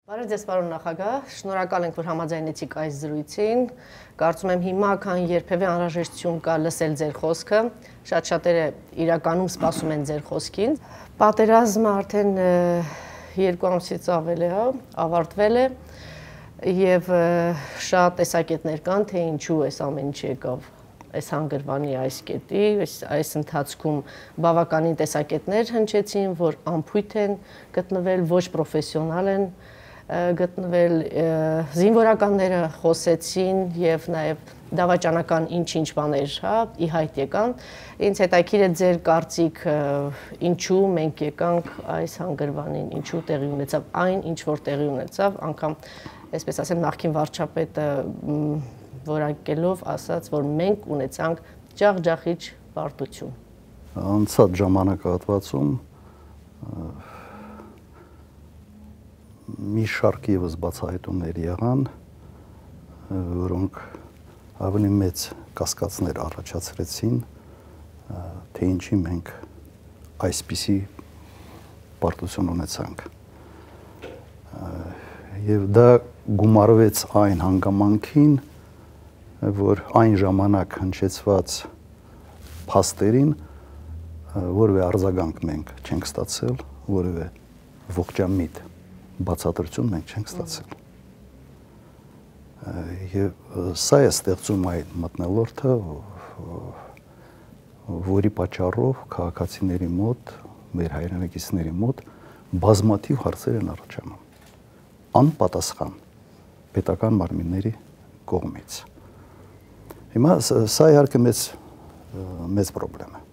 Բարև ձեզ, պարոն նախագահ, շնորհակալ ենք, որ համաձայնեցիք այս զրույցին։ Կարծում եմ հիմա քան երբևէ անհրաժեշտություն կա լսել ձեր խոսքը։ Շատ շատերը իրականում սպասում են ձեր խոսքին։ Պատերազմը արդեն 2 ամսից ավել է, ավարտվել է եւ շատ տեսակետներ կան, թե ինչու այս ամեն ինչ եկավ այս հանգրվանի այս կետի, այս ընթացքում բավականին տեսակետներ հնչեցին, որ անփույթ են գտնվել, ոչ պրոֆեսիոնալ են գտնվել, զինվորականները խոսեցին եւ նաեւ դավաճանական ինչ-ինչ բաներ, ի հայտ եկան։ Ինձ հետաքրքիր է ձեր կարծիքը, ինչու մենք եկանք այս հանգրվանին, ինչու տեղի ունեցավ այն, ինչ որ տեղի ունեցավ, անգամ այսպես ասեմ նախկին վարչապետը որակելով ասաց, որ մենք ունեցանք ջախջախիչ պարտություն։ Անցած ժամանակահատվածում մի շարք եւս բացահայտումներ եղան, որոնք ավելի մեծ կասկածներ առաջացրեցին, թե ինչի մենք այսպիսի պարտություն ունեցանք։ Եվ դա գումարվեց այն հանգամանքին, որ այն ժամանակ հնչեցված փաստերին որևէ արձագանք մենք չենք ստացել, որևէ ողջամիտ բացատրություն մենք չենք ստացել։ Եվ սա է ստեղծում այդ մթնոլորտը, որի պատճառով քաղաքացիների մոտ, մեր հայրենակիցների մոտ բազմաթիվ հարցեր են առաջանում, անպատասխան պետական մարմինների կողմից։ Հիմա սա իհարկե մեծ պրոբլեմ է։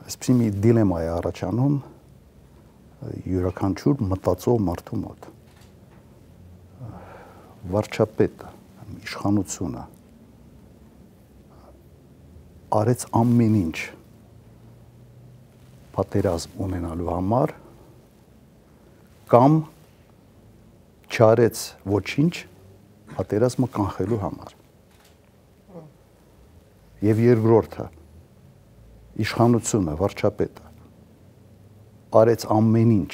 Այսպիսի մի դիլեմա է առաջանում յուրաքանչյուր մտածող մարդու մոտ։ Վարչապետը, իշխանությունը արեց ամեն ինչ պատերազմ ունենալու համար կամ չարեց ոչինչ պատերազմը կանխելու համար։ Եվ երկրորդը իշխանությունը, վարչապետը արեց ամեն ինչ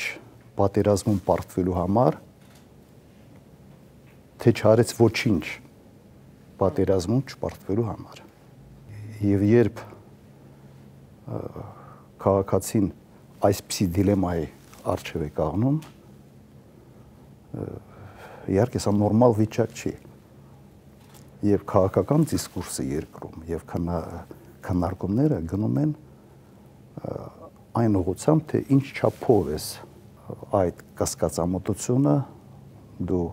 պատերազմում պարտվելու համար, թե չարեց ոչինչ պատերազմում չպարտվելու համար։ Եվ երբ քաղաքացին այսպիսի դիլեմայի առջև է կանգնում, իհարկե սա նորմալ վիճակ չի։ Եվ քաղաքական դիսկուրսը երկրում եւ քննարկումները գնում են այն ուղղությամբ, թե ինչ չափով է այդ կասկածամտությունը դու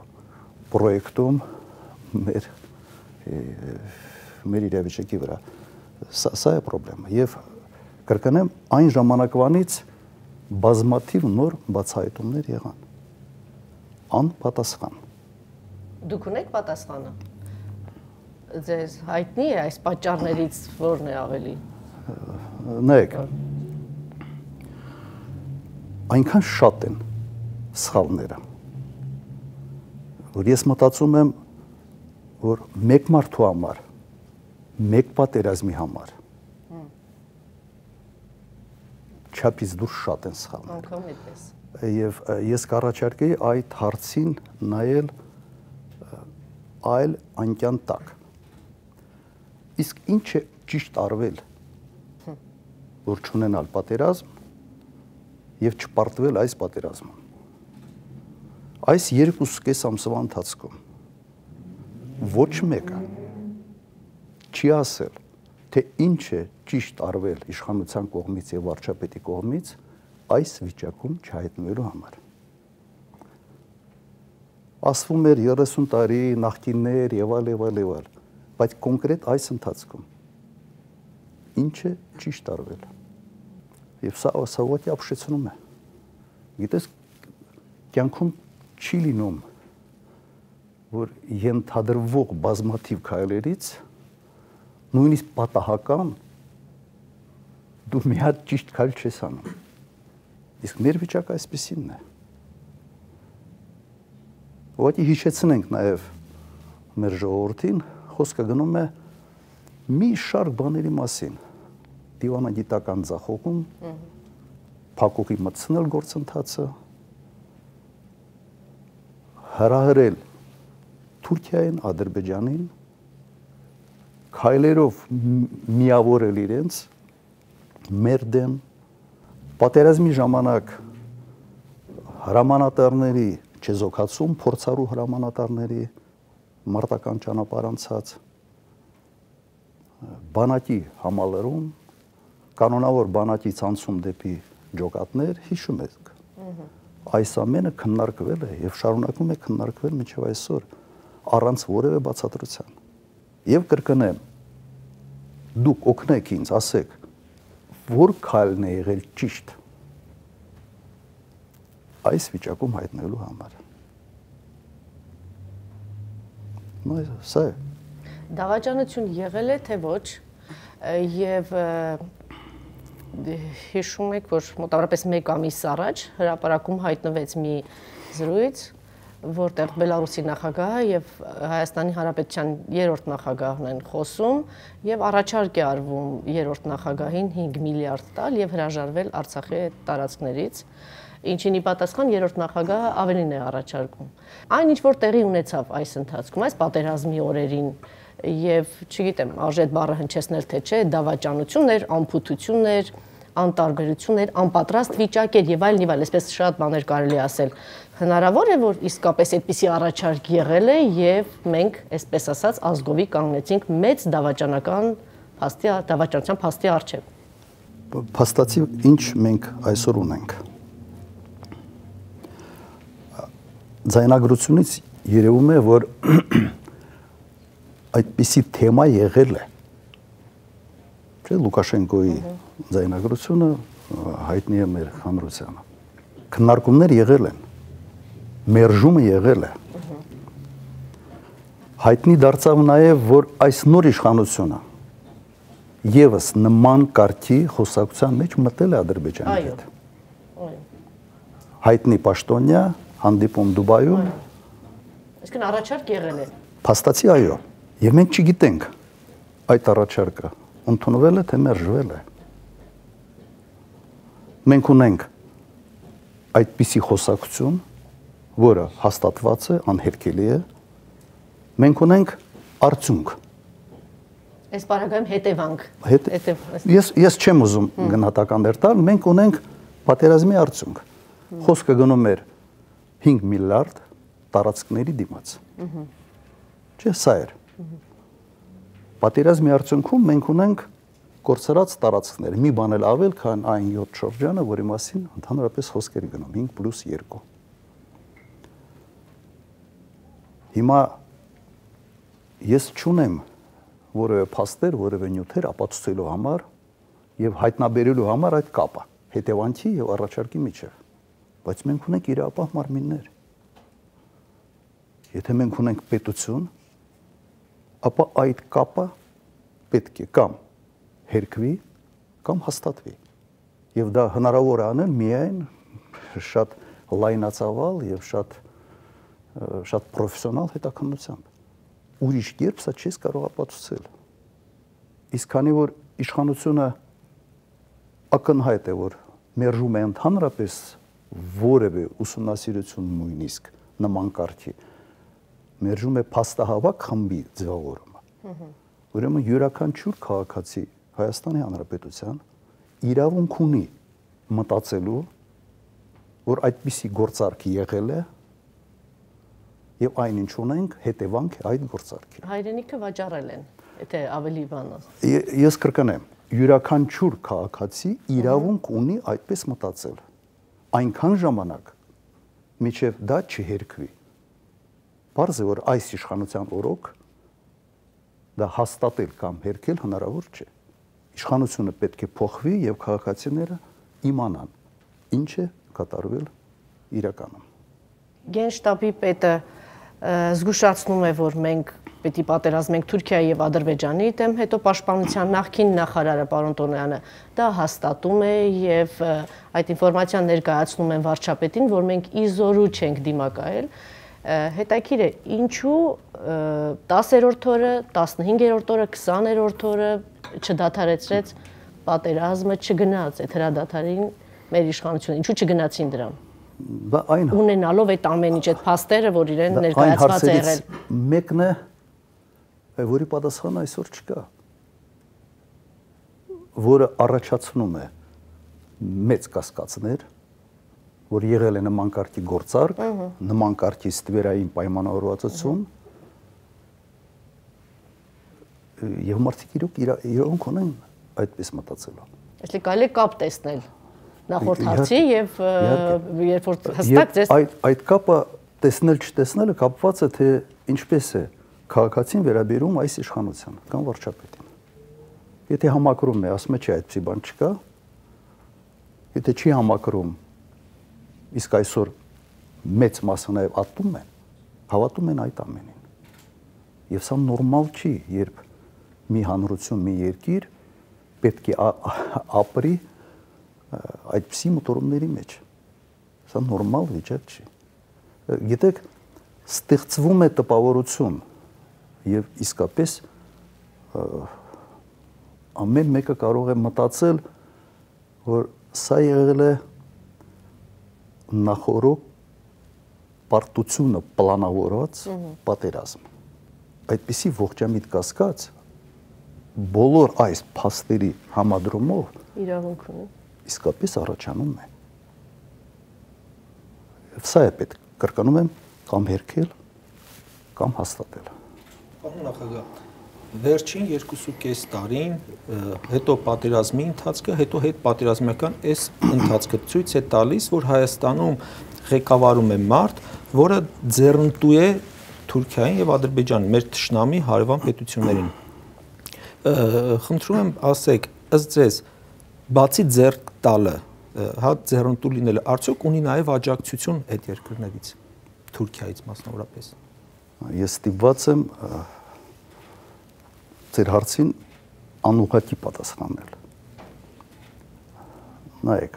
պրոյեկտում մեր իրավիճակի վրա։ Սա է պրոբլեմը։ Եվ կրկնեմ, այն ժամանակվանից բազմաթիվ նոր բացահայտումներ եղան։ Անպատասխան։ Դուք ունեք պատասխանը։ Ձեզ հայտնի է այս պատճառներից որն է ավելի։ Նայեք, այնքան շատ են սխալները, որ ես մտածում եմ, որ մեկ մարդու համար, մեկ պատերազմի համար չափից դուրս շատ են սխալները։ Անկամ այդպես։ Եվ ես կառաջարկեի այդ հարցին նայել այլ անկյան տակ։ Իսկ ինչ է ճիշտ արվել, որ չունենալ պատերազմ եւ չպարտվել այս պատերազմում։ Այս 2.5 ամսվա ընթացքում ոչ մեկը չի ասել, թե ինչ է ճիշտ արվել իշխանության կողմից եւ վարչապետի կողմից այս վիճակում չհայտնվելու համար։ Ասվում էր 30 տարի նախկիններ եւ այլ, բայց կոնկրետ այս ընթացքում ինչ է ճիշտ արվել։ Եվ սա ուղղակի ապշեցնում է։ Գիտես, կյանքում չի լինում, որ ենթադրվող բազմաթիվ քայլերից նույնիսկ պատահական դու մի հատ ճիշտ քայլ չես անում։ Իսկ մեր վիճակը այսպեսինն է։ Ուղղակի հիշեցնենք նաև մեր ժողովրդին, խոսքը գնում է մի շարք բաների մասին։ Դիվանագիտական ձախողում, փակուղի մտցնել գործընթացը, հրահրել Թուրքիային, Ադրբեջանին, քայլերով միավորել իրենց մեր դեմ, պատերազմի ժամանակ հրամանատարների չեզոքացում, փորձառու հրամանատարների մարտական ճանապարհ անցած, բանակի համալրում, կանոնավոր բանակից անցում դեպի ջոկատներ, հիշում եք։ Այս ամենը քննարկվել է եւ շարունակում է քննարկվել մինչեւ այսօր առանց որևէ բացատրության։ Եվ կրկնեմ, դուք օգնեք ինձ, ասեք, որ քայլն է եղել ճիշտ այս վիճակում հայտնելու համար։ Սա է։ Դավաճանություն եղել է, թե ոչ, եւ հիշում եք, որ մոտավորապես 1 ամիս առաջ հրապարակում հայտնվեց մի զրույց, որտեղ Բելարուսի նախագահը եւ Հայաստանի Հանրապետության 3-րդ նախագահն են խոսում եւ առաջարկ է արվում 3-րդ նախագահին 5 միլիարդ տալ եւ հրաժարվել Արցախի տարածքներից, ինչին ի պատասխան 3-րդ նախագահը ավելին է առաջարկում։ Այն ինչ որ տեղի ունեցավ այս ընթացքում, այս պատերազմի օրերին եւ չգիտեմ, արժե այդ բառը հնչեցնել թե չէ, դավաճանություններ, անփութություններ, անտարբերություններ, անպատրաստ վիճակեր եւ այլն, այսպես շատ բաներ կարելի ասել։ Հնարավոր է, որ իսկապես այդպիսի առաջարկ եղել է եւ մենք, այսպես ասած, ազգովի կանգնեցինք մեծ դավաճանության փաստի առջեւ։ Փաստացի ինչ մենք այսօր ունենք։ Ձայնագրությունից երևում է, որ այդպիսի թեմա եղել է։ Չէ, Լուկաշենկոյի ձայնագրությունը հայտնի է մեր հանրությանը։ Քննարկումներ եղել են, մերժումը եղել է։ Հայտնի դարձավ նաև, որ այս նոր իշխանությունը եւս նման կարգի խոսակցության մեջ մտել է Ադրբեջանի հետ։ Հայտնի պաշտոնյա հանդիպում Դուբայում։ Այսինքն առաջարկ եղել է։ Փաստացի այո, եւ մենք չգիտենք այդ առաջարկը ընդունվել է թե մերժվել է։ Մենք ունենք այդպիսի խոսակցություն, որը հաստատված է, անհերքելի է։ Մենք ունենք արդյունք։ Այս բaragայում հետևանք։ Ես չեմ ուզում գնահատականներ տալ, մենք ունենք պատերազմի արդյունք։ Խոսքը գնում էր 5 միլիարդ տարածքների դիմաց։ Չէ, սա էր։ Պատերազմի արդյունքում մենք ունենք կորցրած տարածքներ, մի բան էլ ավել, քան այն 7 շրջանը, որի մասին ընդհանրապես խոսքեր գնում 5+2։ Հիմա ես չունեմ որևէ փաստեր, որևէ նյութեր ապացուցելու համար եւ հայտնաբերելու համար այդ կապը հետևանքի եւ առաջարկի միջեւ, բայց մենք ունենք իրապահ մարմիններ։ Եթե մենք ունենք պետություն, ապա այդ կապը պետք է կամ հերքվի, կամ հաստատվի։ Եվ դա հնարավոր է անել միայն շատ լայնածավալ եւ շատ պրոֆեսիոնալ հետաքննությամբ։ Ուրիշ կերպ սա չես կարող ապացուցել։ Իսկ քանի որ իշխանությունը ակնհայտ է, որ մերժում է ընդհանրապես որևէ ուսումնասիրություն նույնիսկ նման կարգի, մերժում է փաստահավաք խմբի ձևավորումը։ Ուրեմն յուրաքանչյուր քաղաքացի Հայաստանի Հանրապետության իրավունք ունի մտածելու, որ այդպիսի գործարք եղել է եւ այնինչ ունենք հետևանք է այդ գործարքի։ Հայրենիքը վաճառել են, եթե ավելի բան։ Ես կրկնեմ, յուրաքանչյուր քաղաքացի իրավունք ունի այդպես մտածել։ Այնքան ժամանակ, մինչև դա չհերքվի։ Պարզ է, որ այս իշխանության օրոք դա հաստատել կամ հերքել հնարավոր չէ։ Իշխանությունը պետք է փոխվի եւ քաղաքացիները իմանան ինչ է կատարվել իրականում։ Գենշտաբի պետը զգուշացնում է, որ մենք պետք է պատերազմենք Թուրքիայի եւ Ադրբեջանի դեմ, հետո պաշտպանության նախկին նախարարը պարոն Տոնոյանը դա հաստատում է եւ այդ ինֆորմացիան ներկայացնում են վարչապետին, որ մենք իզորու չենք դիմակայել։ Հետաքրքիր է, ինչու 10-րդ օրը, 15-րդ օրը, 20-րդ օրը չդադարեցրեց պատերազմը, չգնաց այդ հրադադարին մեր իշխանությունը, ինչու չգնացին դրան։ Դա այն ունենալով այդ ամեն ինչ այդ փաստերը, որ իրեն ներկայացված է եղել։ Մեկն է, որի պատասխանը այսօր չկա, որը առաջացնում է մեծ կասկածներ, որ եղել է նման կարգի գործարք, նման կարգի ստվերային պայմանավորվածություն, եւ մարդիկ իրոք ունեն այդպես մտածելու։ Այսինքն կարելի է կապ տեսնել նախորդ հարցի եւ երբ որ հստակ ձեզ այդ կապը տեսնել չտեսնելը կապված է թե ինչպես է քաղաքացին վերաբերում այս իշխանությանը կամ վարչապետին։ Եթե համակրում է, ասում է չէ, այդպիսի բան չկա։ Եթե չի համակրում, իսկ այսօր մեծ մասը նաեւ հավատում են այդ ամենին։ Եվ սա նորմալ չի, երբ մի հանրություն, մի երկիր պետք է ապրի այդպիսի մոտորումների մեջ։ Սա նորմալ վիճակ չի։ Գիտեք, ստեղծվում է տպավորություն եւ իսկապես ամեն մեկը կարող է մտածել, որ սա եղել է նախորդ պարտությունը պլանավորված պատերազմ։ Այդպիսի ողջամիտ կասկած բոլոր այս փաստերի համադրումով իրավունք ունի։ Իսկապես առաջանում է։ Սա է պետք, կրկնում եմ, կամ հերքել, կամ հաստատել։ Պարոն նախագահ, վերջին 2.5 տարին, հետո պատերազմի ընթացքը, հետո հետպատերազմական այս ընթացքը ցույց է տալիս, որ Հայաստանում ղեկավարում է մարդ, որը ձեռնտու է Թուրքիային եւ Ադրբեջանին, մեր թշնամի հարևան պետություններին։ Խնդրում եմ ասեք, ըստ ձեզ, բացի ձեռք տալը, հա ձեռնտու լինելը, արդյոք ունի նաեւ աջակցություն այդ երկրներից, Թուրքիայից մասնավորապես։ Ես ստիպված եմ ձեր հարցին անուղղակի պատասխանել։ Նայեք,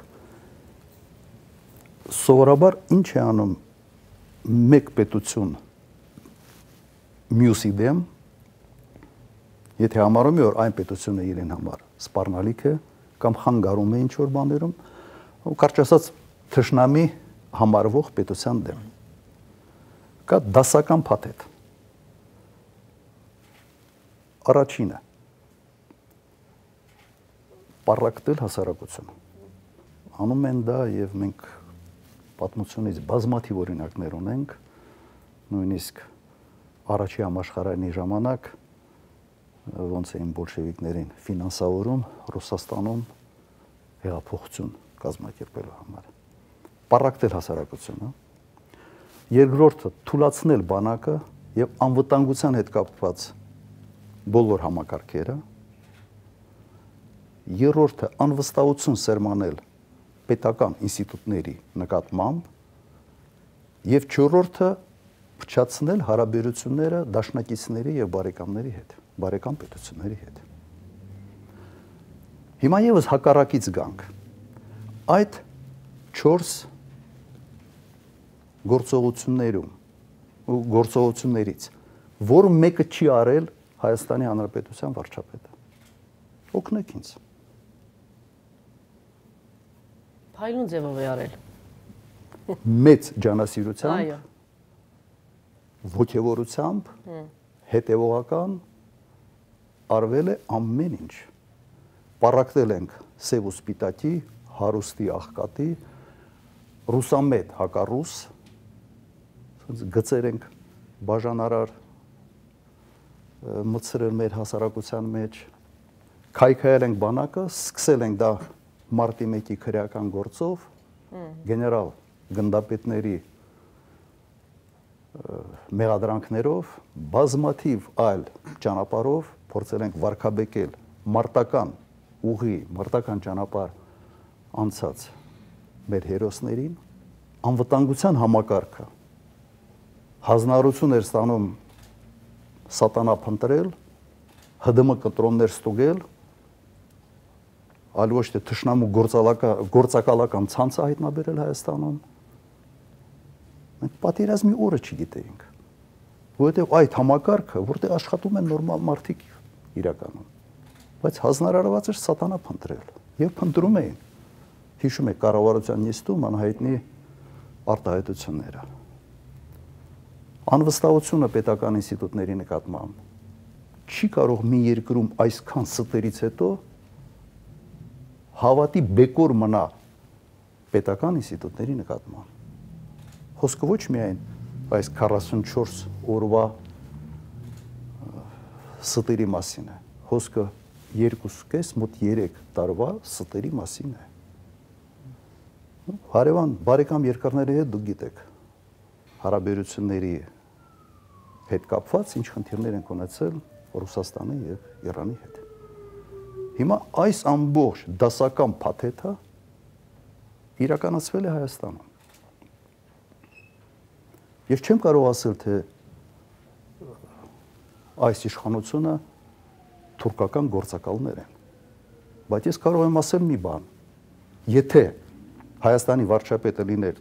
սովորաբար ինչ է անում մեկ պետություն մյուսի դեմ, եթե համարում է, որ այն պետությունը իրեն համար սպառնալիք է, կամ խանգարում է ինչ-որ բաներում, կարճ ասած թշնամի համարվող պետության դեմ։ Կա դասական փաթեթ։ Առաջինը պառակտել հասարակությունը։ Անում են դա եւ մենք պատմությունից բազմաթիվ օրինակներ ունենք, նույնիսկ առաջի համաշխարհային ժամանակ ոնց էին բոլշևիկներին ֆինանսավորում Ռուսաստանում հեղափոխություն կազմակերպելու համար։ Պառակտել հասարակությունը։ Երկրորդը թուլացնել բանակը եւ անվտանգության հետ կապված բոլոր համակարգերը։ Երրորդը անվստահություն սերմանել պետական ինստիտուտների նկատմամբ եւ չորրորդը փչացնել հարաբերությունները դաշնակիցների եւ բարեկամների հետ, բարեկամ պետությունների հետ։ Հիմա եւս հակառակից գանք։ Այդ 4 գործողություններից, որ մեկը չի արել Հայաստանի Հանրապետության վարչապետը։ Օգնեք ինձ։ Փայլուն ձևով է արել։ Մեծ ջանասիրությամբ, ոգևորությամբ, հետևողական արվել է ամեն ինչ։ Պառակտել ենք սև ու սպիտակի, հարուստի աղքատի, ռուսամետ հակառուս, գծեր ենք բաժանարար մտցրել մեր հասարակության մեջ, քայքայել ենք բանակը, սկսել ենք դա մարտի 1-ի քրեական գործով, գեներալ գնդապետների մեղադրանքներով, բազմաթիվ այլ ճանապարհով փորձել ենք վարկաբեկել մարտական ուղի, մարտական ճանապարհ անցած մեր հերոսներին, անվտանգության համակարգը հանրություն էր ստանում սատանա փնտրել, ՀԴՄ կտրոններ ստուգել, այլ ոչ թե թշնամու գործակալական ցանցը հայտնաբերել Հայաստանում։ Մենք պատերազմի օրը չգիտեինք, որովհետև այդ համակարգը, որտեղ աշխատում են նորմալ մարդիկ իրականում, բայց հանրարարված էր սատանա փնտրել եւ փնտրում էին։ Հիշում եք կառավարության նիստում անհայտնի արտահայտությունները։ Անվստահությունը պետական ինստիտուտների նկատմամբ չի կարող մի երկրում այսքան ստերից հետո հավատի բեկոր մնա պետական ինստիտուտների նկատմամբ։ Խոսքը ոչ միայն այս 44 օրվա ստերի մասին է, խոսքը 2.5 մոտ 3 տարվա ստերի մասին է։ Հարևան բարեկամ երկրների հետ դուք գիտեք, հարաբերությունների հետ կապված ինչ խնդիրներ են ունեցել Ռուսաստանի եւ Իրանի հետ։ Հիմա այս ամբողջ դասական փաթեթը իրականացվել է Հայաստանում։ Ես չեմ կարող ասել, թե այս իշխանությունը թուրքական գործակալներ են, բայց ես կարող եմ ասել մի բան. եթե Հայաստանի վարչապետը լիներ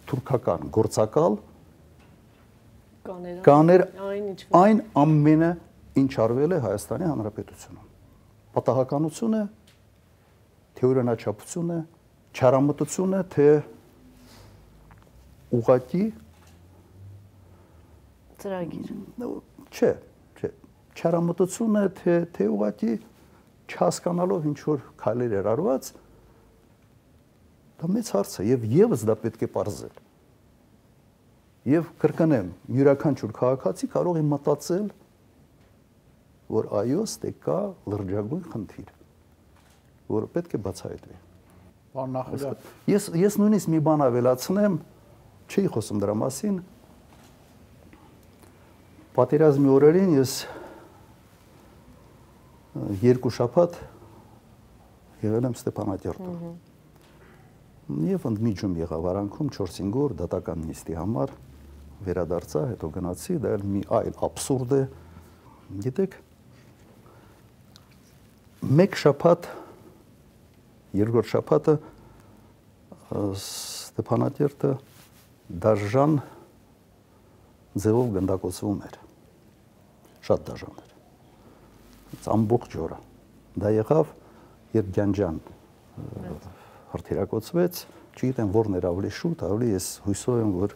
թուրքական գործակալ, կաներ այն ամենը, ինչ արվել է Հայաստանի Հանրապետությունում։ Պատահականությունը, թե օրինաչափությունը, չարամտությունը, թե ուղղակի ծրագիր։ Չէ, չարամտությունը, թե ուղղակի չհասկանալով ինչ որ քայլեր էր արված, դա մեծ հարց է եւ եւս դա պետք է պարզել։ Եվ կրկնեմ, յուրաքանչյուր քաղաքացի կարող է մտածել, որ այո, ստե կա լրջագույն խնդիր, որը պետք է բացահայտվի։ Պարոն նախագահ, ես նույնիսկ մի բան ավելացնեմ, չի խոսում դրա մասին։ Պատերազմի օրերին ես 2 շաբաթ եղել եմ Ստեփանակերտում։ Եվ ընդմիջում եղավ Արանքում 4-5 օր դատական նիստի համար վերադարձա, հետո գնացի, դա մի այլ աբսուրդ է։ Գիտեք, մեկ շաբաթ, երկրորդ շաբաթը Ստեփանակերտը դաժան ձևով գնդակոծվում էր։ Շատ դաժան էր։ Ամբողջ օրը։ Դա եղավ, երբ Գյանջան հրթիռակոծվեց, չգիտեմ որն էր ավելի շուտ, ավելի ես հույսով եմ, որ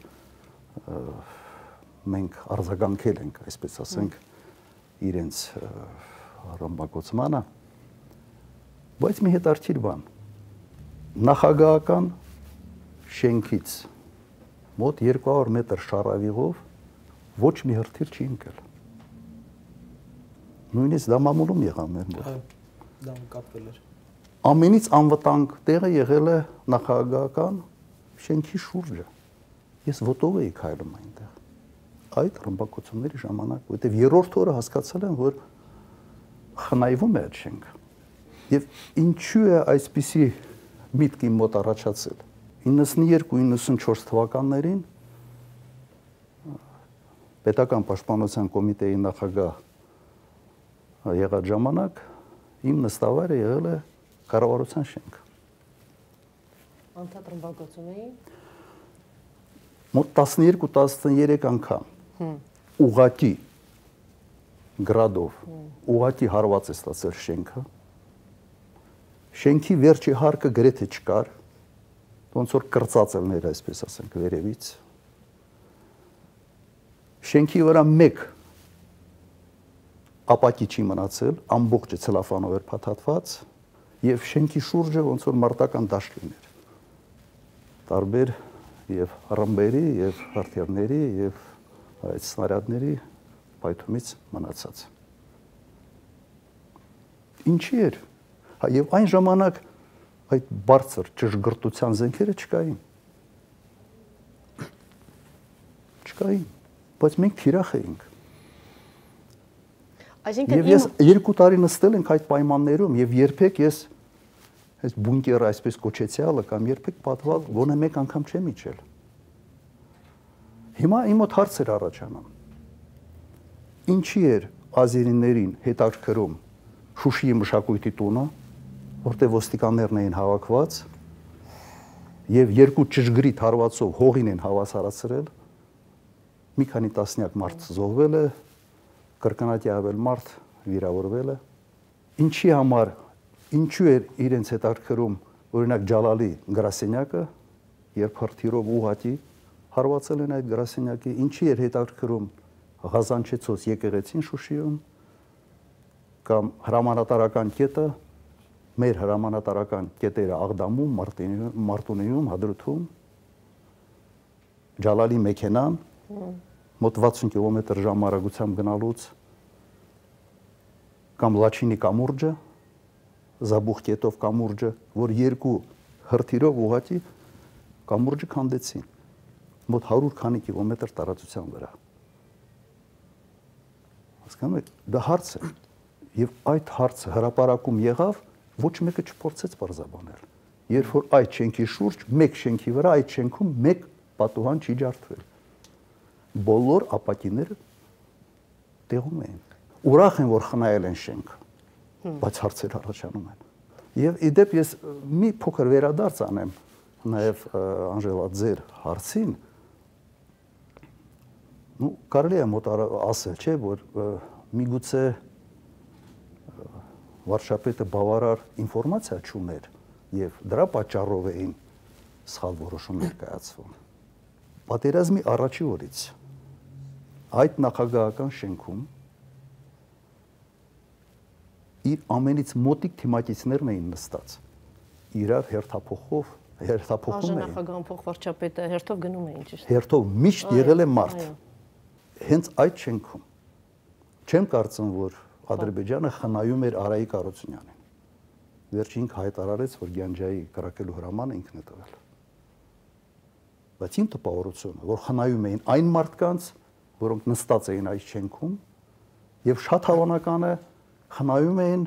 մենք արձագանքել ենք, այսպես ասենք, իրենց ռմբակոծմանը, բայց մի հետաքրքիր բան, նախագահական շենքից մոտ 200 մետր շարավիղով ոչ մի հրթիռ չի ընկել։ Նույնիսկ դա մամուլում եղավ մեր մոտ։ Դա կապվել էր։ Ամենից անվտանգ տեղը եղել է նախագահական շենքի շուրջը։ Ես ոտով էի քայլում այնտեղ։ Այդ ռմբակոծումների ժամանակ, որտեղ երրորդ օրը հասկացել եմ, որ խնայվում է այդ շենքը։ Եվ ինչու է այսպիսի միտք իմ մոտ առաջացել։ 92-94 թվականներին Պետական պաշտպանության կոմիտեի նախագահ եղած ժամանակ իմ նստավայրը եղել է կառավարության շենքը։ Անդադ ռմբակոծում էին։ Մոտ 12-13 անգամ ուղղակի գրադով ուղղակի հարված է ստացել շենքը։ Շենքի վերջի հարկը գրեթե չկար, ոնց որ կրծած ելներ, այսպես ասենք, վերևից։ Շենքի վրա մեկ ապակի չի մնացել, ամբողջը ցելոֆանով էր փաթաթված, եւ շենքի շուրջը ոնց որ մարտական դաշտ լիներ։ Տարբեր եւ ռմբերի եւ հրթիռների եւ այդ սնարյադների պայթումից մնացած։ Ինչի էր։ Եվ այն ժամանակ այդ բարձր ճշգրտության զենքերը չկային։ Չկային, բայց մենք թիրախ էինք։ Այսինքն ես 2 տարի նստել ենք այդ պայմաններում եւ երբեք ես այս բունկերը այսպես կոչեցյալը կամ երբեք պատվալ գոնե մեկ անգամ չեմ իջել։ Հիմա իմ մոտ հարց էր առաջանում։ Ինչի էր ազերիներին հետաքրքրում Շուշիի մշակույթի տունը, որտեղ ոստիկաններն էին հավաքված եւ 2 ճշգրիտ հարվածով հողին են հավասարացրել, մի քանի տասնյակ մարդ զոհվել է, կրկնակի ավել մարդ վիրավորվել է։ Ինչի համար, ինչու էր իրենց հետաքրքրում օրինակ Ջալալի գրասենյակը, երբ հրթիռով ուղղակի հարվածել են այդ գրասենյակի, ինչի էր հետաքրքրում Ղազանչեցոց եկեղեցին Շուշիում կամ հրամանատարական կետը, մեր հրամանատարական կետերը Աղդամում, Մարտունիում, Հադրութում, Ջալալի մեքենան, մոտ 60 կիլոմետր ժամ արագությամբ գնալուց, կամ Լաչինի կամուրջը, Զաբուխ կետով կամուրջը, որ երկու հրթիռով ուղղակի կամուրջը քանդեցին, մոտ 100 քանի կիլոմետր տարածության վրա։ Հասկանում եք, դա հարց է, եւ այդ հարցը հրապարակում եղավ, ոչ մեկը չփորձեց բարձաբանել։ Երբ որ այդ շենքի շուրջ, մեկ շենքի վրա, այդ շենքում մեկ պատուհան չի ջարդվել։ Բոլոր ապակիները տեղում էին։ Ուրախ են, որ խնայել են շենքը, բայց հարցեր առաջանում են։ Եվ իդեպ ես մի փոքր վերադարձ անեմ նաև Անժելա ձեր հարցին, կարելի է մոտ ասել, չէ, որ միգուցե վարչապետը բավարար ինֆորմացիա չուներ եւ դրա պատճառով էին սխալ որոշումներ կայացվում։ Պատերազմի առաջի օրից այդ նախագահական շենքում իր ամենից մոտիկ թիմակիցներն էին նստած, իրար հերթափոխում էին։ Նախագահան փոխվարչապետը հերթով գնում էին, ճիշտ։ Հերթով միշտ եղել է մարդ։ Հենց այդ շենքում չեմ կարծում, որ Ադրբեջանը խնայում էր Արայիկ Արությունյանին։ Վերջին հայտարարեց, որ Գյանջայի կրակելու հրամանը ինքն է տվել։ Բայց իմ տպավորությունը, որ խնայում էին այն մարդկանց, որոնք նստած էին այդ շենքում, եւ շատ հավանական է խնայում էին,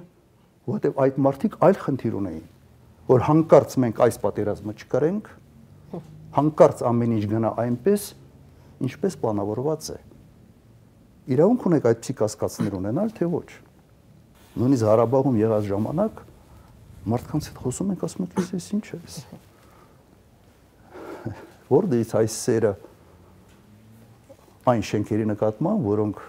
որտեղ այդ մարդիկ այլ խնդիր ունեին, որ հանկարծ մենք այս պատերազմը չկրենք, հանկարծ ամեն ինչ գնա այնպես, ինչպես պլանավորված է։ Իրավունք ունեք այդպիսի կասկածներ ունենալ, թե ոչ։ Նույնիսկ Ղարաբաղում եղած ժամանակ մարդկանց հետ խոսում ենք, ասում ենք, ես ինչ է էս։ Որտեղից այս սերը այն շենքերի նկատմամբ, որոնք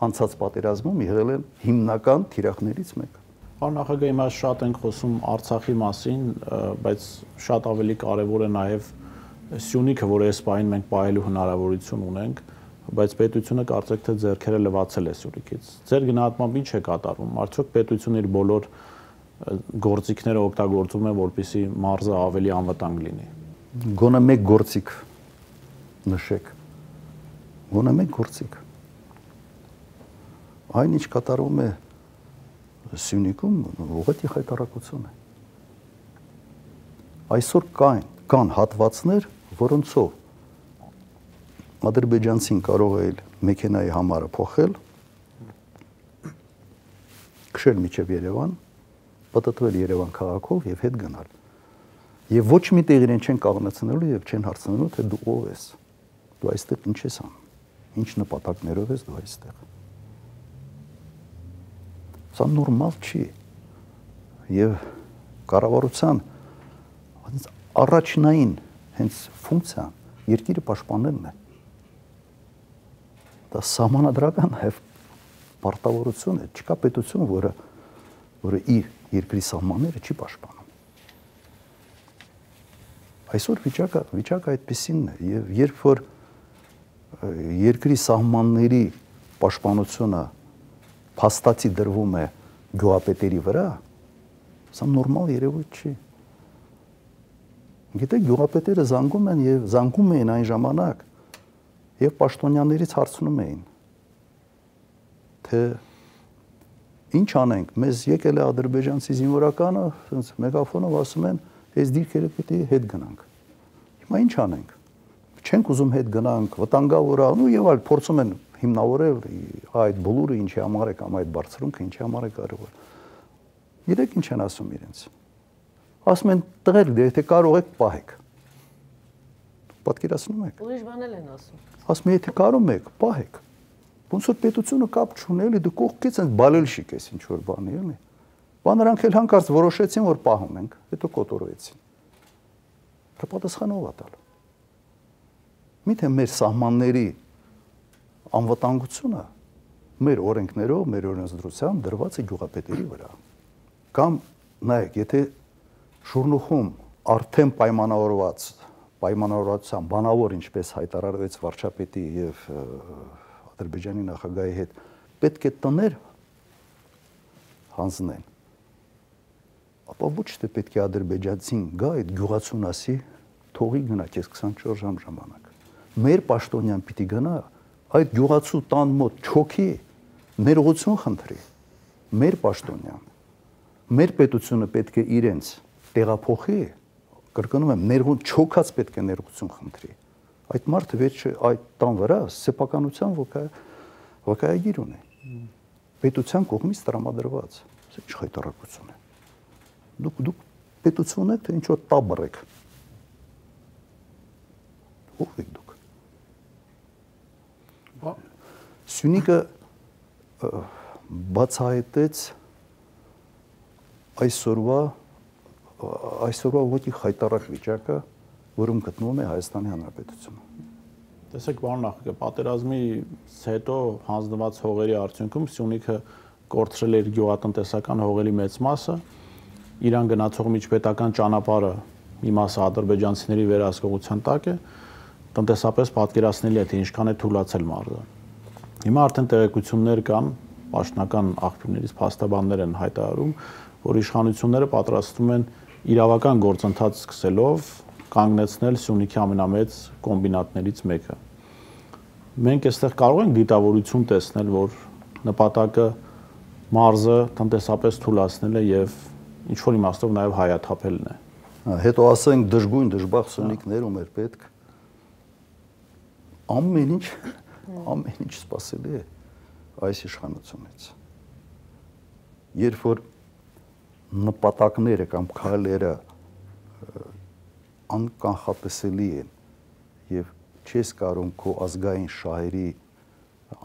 անցած պատերազմում եղել են հիմնական թիրախներից մեկը։ Պարոն նախագահ, հիմա շատ ենք խոսում Արցախի մասին, բայց շատ ավելի կարևոր է նաև Սյունիքը, որ այս պահին մենք պահելու հնարավորություն ունենք, բայց պետությունը կարծեք թե ձեռքերը լվացել է Սյունիքից։ Ձեր գնահատմամբ ինչ է կատարվում։ Արդյոք պետությունը իր բոլոր գործիքները օգտագործում է, որպեսզի մարզը ավելի անվտանգ լինի։ Գոնե մեկ գործիք նշեք։ Գոնե մեկ գործիք։ Այն ինչ կատարվում է Սյունիքում, ուղղակի խայտարակություն է։ Այսօր կան հատվածներ, որոնցով ադրբեջանցին կարող է մեքենայի համարը փոխել, քշել մինչև Երևան, պատտվել Երևան քաղաքով եւ հետ գնալ։ Եվ ոչ մի տեղ իրեն չեն կանգնեցնելու եւ չեն հարցնելու, թե դու ով ես։ Դու այստեղ ինչ ես անում։ Ինչ նպատակներով ես դու այստեղ։ Սա նորմալ չի։ Եվ կառավարության առաջնային հենց ֆունկցիան երկիրը պաշտպանելն է։ Դա սահմանադրական է պարտավորություն է, չկա պետություն, որը իր երկրի սահմանները չի պաշտպանում։ Այսօր վիճակը այդպեսին է, եւ երբ որ երկրի սահմանների պաշտպանությունը փաստացի դրվում է գյուղապետերի վրա, սա նորմալ երևույթ չի։ Գիտեք, գյուղապետերը զանգում են եւ զանգում էին այն ժամանակ, եւ պաշտոնյաներից հարցնում էին, թե ինչ անենք, մեզ եկել է ադրբեջանցի զինվորականը, ասենց մեգաֆոնով ասում են, այս դիրքերը պետք է հետ գնանք։ Հիմա ինչ անենք։ Չենք ուզում հետ գնանք, վտանգավոր է, ու եւ այլ փորձում են հիմնավորել այդ բլուրը ինչի համար է կամ այդ բարձրունքը ինչի համար է կարևոր։ Գիտեք ինչ են ասում իրենց։ Ասում են տղեր, եթե կարող եք, պահեք։ Պատկերացնում եք։ Ուրիշ բանել են ասում։ Ասում են, եթե կարող եք, պահեք։ Ոնց որ պետությունը կապ չունի, էլի դու կողքից են բալելշիկ ես ինչ որ բանի, էլի։ Բա նրանք էլ հանկարծ որոշեցին, որ պահում ենք, հետո կոտորվեցին։ Դա պատասխանով ա տալ։ Միթե մեր սահմանների անվտանգությունը մեր օրենքներով, մեր օրենսդրությամբ դրված է գյուղապետերի վրա։ Կամ նայեք, եթե Շուրնուխում արդեն պայմանավորված պայմանավորվածության բանավոր ինչպես հայտարարվեց վարչապետի եւ Ադրբեջանի նախագահի հետ, պետք է տներ հանձնեն։ Ապա ոչ թե պետք է ադրբեջանցին գա այդ գյուղացուն ասի, թողի գնա քեզ 24 ժամ ժամանակ։ Մեր պաշտոնյան պիտի գնա այդ գյուղացու տան մոտ չոքի, ներողություն խնդրի։ Մեր պաշտոնյան, մեր պետությունը պետք է իրենց տեղափոխի, կրկնում եմ, ներողություն չոքած պետք է ներողություն խնդրի։ Այդ մարդը վերջը այդ տան վրա սեփականության վկայագիր ունի։ Պետության կողմից տրամադրված։ Սա ինչ խայտարակություն է։ Դուք պետություն եք, թե ինչ որ տաբր եք։ Ո՞վ եք դուք։ Սյունիքը բացահայտեց այսօրվա ոքի խայտարակ վիճակը, որում գտնվում է Հայաստանի Հանրապետությունը։ Տեսեք, պարոն նախագահ, պատերազմից հետո հանձնված հողերի արդյունքում Սյունիքը կորցրել էր գյուղատնտեսական հողերի մեծ մասը, Իրան գնացող միջպետական ճանապարհը մի մասը ադրբեջանցիների վերահսկողության տակ է, տնտեսապես պատկերացնելի է, թե ինչքան է թուլացել մարզը։ Հիմա արդեն տեղեկություններ կան, պաշտոնական աղբյուրներից փաստաբաններ են հայտարարում, որ իշխանությունները պատրաստվում են իրավական գործընթաց սկսելով կանգնեցնել Սյունիքի ամենամեծ կոմբինատներից մեկը։ Մենք այստեղ կարող ենք դիտավորություն տեսնել, որ նպատակը մարզը տնտեսապես թուլացնել է եւ ինչ որ իմաստով նաեւ հայաթափելն է։ Հետո ասենք դժգույն դժբախտ Սյունիքներում էր պետք ամեն ինչ սպասելի է այս իշխանությունից։ Երբ որ նպատակները կամ քայլերը անկանխատեսելի են եւ չես կարող քո ազգային շահերի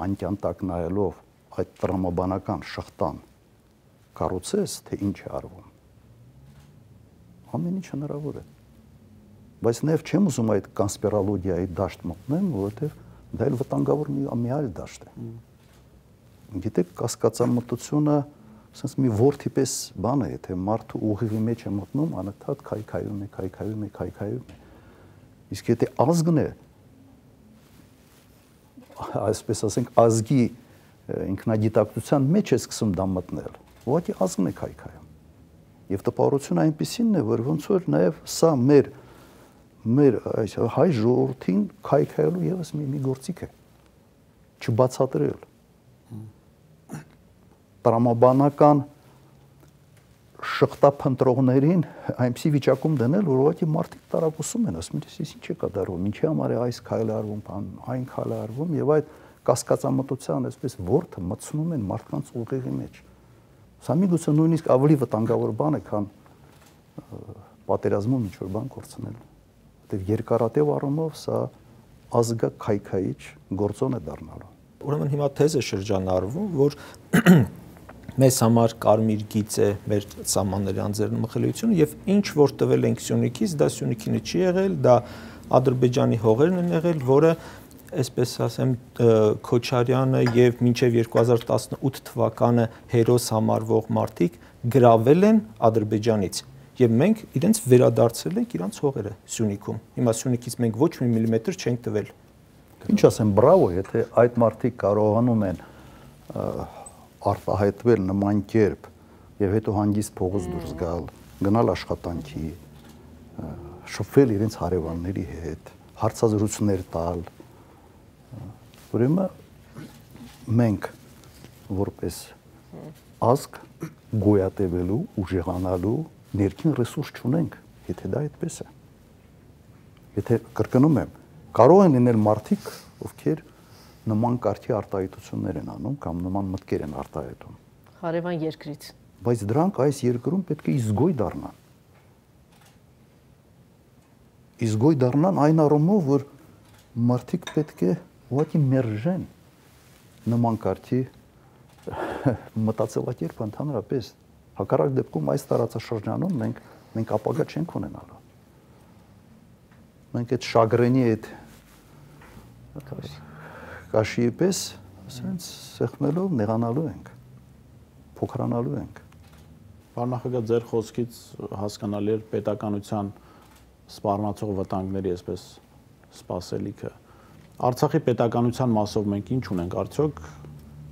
անկյան տակ նայելով այդ տրամաբանական շղթան կառուցես, թե ինչ է արվում։ Ամեն ինչ հնարավոր է։ Բայց նաև չեմ ուզում այդ կոնսպիրոլոգիայի դաշտ մտնեմ, որովհետեւ դա էլ վտանգավոր մի այլ դաշտ է։ Գիտեք, կասկածամտությունը ասես մի ворթի պես բան է, թե մարդու ուղիղի մեջ է մտնում, անընդհատ քայքայում է։ Իսկ եթե ազգն է, այսպես ասենք, ազգի ինքնագիտակցության մեջ է սկսում դա մտնել, ուղղակի ազգն է քայքայում։ Եվ տպավորությունը այնպեսին է, որ ոնց որ նաև սա մեր այս հայ ժողովրդին քայքայելու եւս մի գործիք է չբացատրել տրամաբանական շղթափնտրողներին այնպիսի վիճակում դնել, որ ուղղակի մարդիկ տարակուսում են, ասում են, ես ինչ է կատարվում, ինչի համար է այս քայլը արվում, այն քայլը արվում, եւ այդ կասկածամտության այսպես ворթը մտցնում են մարդկանց ուղեղի մեջ։ Սա միգուցե նույնիսկ ավելի վտանգավոր բան է, քան պատերազմում ինչ-որ բան կորցնել։ Որտեղ երկարատև առումով սա ազգաքայքայիչ գործոն է դառնալու։ Ուրեմն հիմա թեզ է շրջանառվում, որ մեզ համար կարմիր գիծ է մեր սահմանների անձեռն մխելիությունը եւ ինչ որ տվել ենք Սյունիքից, դա Սյունիքինը չի եղել, դա Ադրբեջանի հողերն են եղել, որը այսպես ասեմ Քոչարյանը եւ մինչեւ 2018 թվականը հերոս համարվող մարդիկ գրավել են Ադրբեջանից եւ մենք իրենց վերադարձել ենք իրանց հողերը Սյունիքում։ Հիմա Սյունիքից մենք ոչ մի միլիմետր չենք տվել։ Ինչ ասեմ, բրավո, եթե այդ մարդիկ կարողանում են արտահայտվել նման կերպ եւ հետո հանգիստ փողոց դուրս գալ, գնալ աշխատանքի, շփվել իրենց հարևանների հետ, հարցազրույցներ տալ, ուրեմն մենք որպես ազգ գոյատևելու, ուժեղանալու ներքին ռեսուրս չունենք, եթե դա այդպես է։ Եթե կրկնում եմ, կարող են լինել մարդիկ, ովքեր նման կարգի արտահայտություններ են անում կամ նման մտքեր են արտահայտում։ Հարևան երկրից։ Բայց դրանք այս երկրում պետք է իզգոյ դառնան։ Իզգոյ դառնան այն առումով, որ մարդիկ պետք է ուղղակի մերժեն նման կարգի մտածելակերպը ընդհանրապես։ Հակառակ դեպքում այս տարածաշրջանում մենք ապագա չենք ունենալու։ Մենք այդ շագրենի այդ կաշիի պես, ասենց սեղմելով նեղանալու ենք, փոքրանալու ենք։ Պարոն նախագահ, ձեր խոսքից հասկանալի էր պետականության սպառնացող վտանգների այսպես սպասելիքը։ Արցախի պետականության մասով մենք ինչ ունենք, արդյոք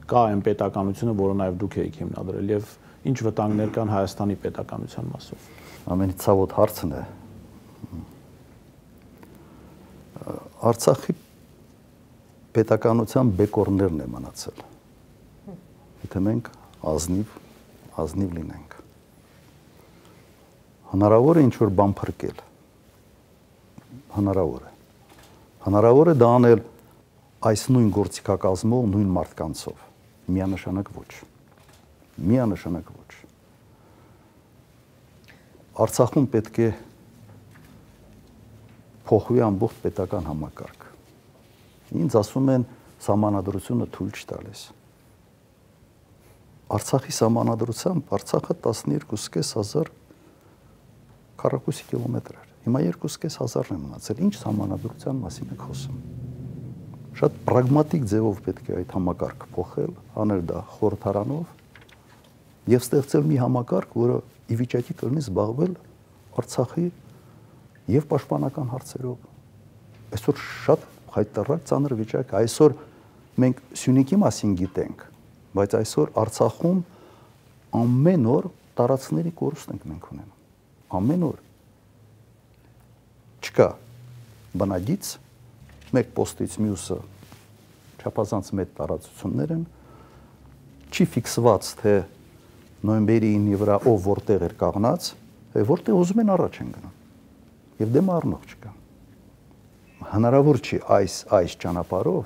կա այն պետականությունը, որը նաև դուք եք հիմնադրել, եւ ինչ վտանգներ կան Հայաստանի պետականության մասով։ Ամենից ցավոտ հարցն է։ Արցախի պետականության բեկորներն է մնացել։ Եթե մենք ազնիվ լինենք։ Հնարավոր է ինչ-որ բան փրկել։ Հնարավոր է դա անել այս նույն գործիքակազմով, նույն մարդկանցով։ Միանշանակ ոչ։ Արցախում պետք է փոխվի ամբողջ պետական համակարգ։ Ինձ ասում են սահմանադրությունը թույլ չտալիս։ Արցախի սահմանադրությամբ Արցախը 12.500 քառակուսի կիլոմետր էր։ Հիմա 2.500 է մնացել։ Ինչ սահմանադրության մասին եք խոսում։ Շատ պրագմատիկ ձևով պետք է այդ համակարգը փոխել, անել դա խորհրդարանով եւ ստեղծել մի համակարգ, որը ի վիճակի կլինի զբաղվել Արցախի եւ պաշտպանական հարցերով։ Այսօր շատ հայտարարակ ծանր վիճակ է։ Այսօր մենք Սյունիքի մասին գիտենք, բայց այսօր Արցախում ամեն օր տարածքների կորուստ ենք մենք ունենում։ Ամեն օր չկա բնագիծ, մեկ պոստից մյուսը չափազանց մեծ տարածություններ են, չի ֆիքսված, թե նոյեմբերի 9-ի վրա ով որտեղ էր կանգնած, որտեղ ուզում են առաջ են գնում, և դեմ առնող չկա։ Հնարավոր չի այս ճանապարհով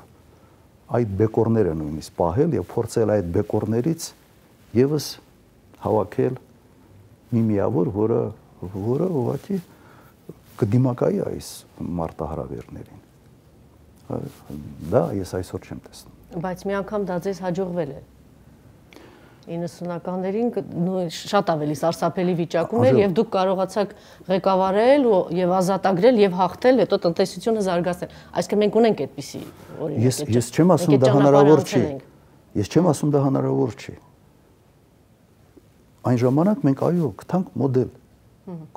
այդ բեկորները նույնիսկ պահել և փորձել այդ բեկորներից ևս հավաքել մի միավոր, որը ուղղակի կդիմակայի այս մարտահրավերներին։ Դա ես այսօր չեմ տեսնում։ Բայց մի անգամ դա ձեզ հաջողվել է։ 90-ականներին շատ ավելի սարսափելի վիճակում էր եւ դուք կարողացաք ղեկավարել եւ ազատագրել եւ հաղթել, հետո տնտեսությունը զարգացնել։ Այսինքն մենք ունենք այդպիսի օրինակ։ Ես չեմ ասում դա հնարավոր չի։ Ես չեմ ասում դա հնարավոր չի։ Այն ժամանակ մենք այո, գտանք մոդել,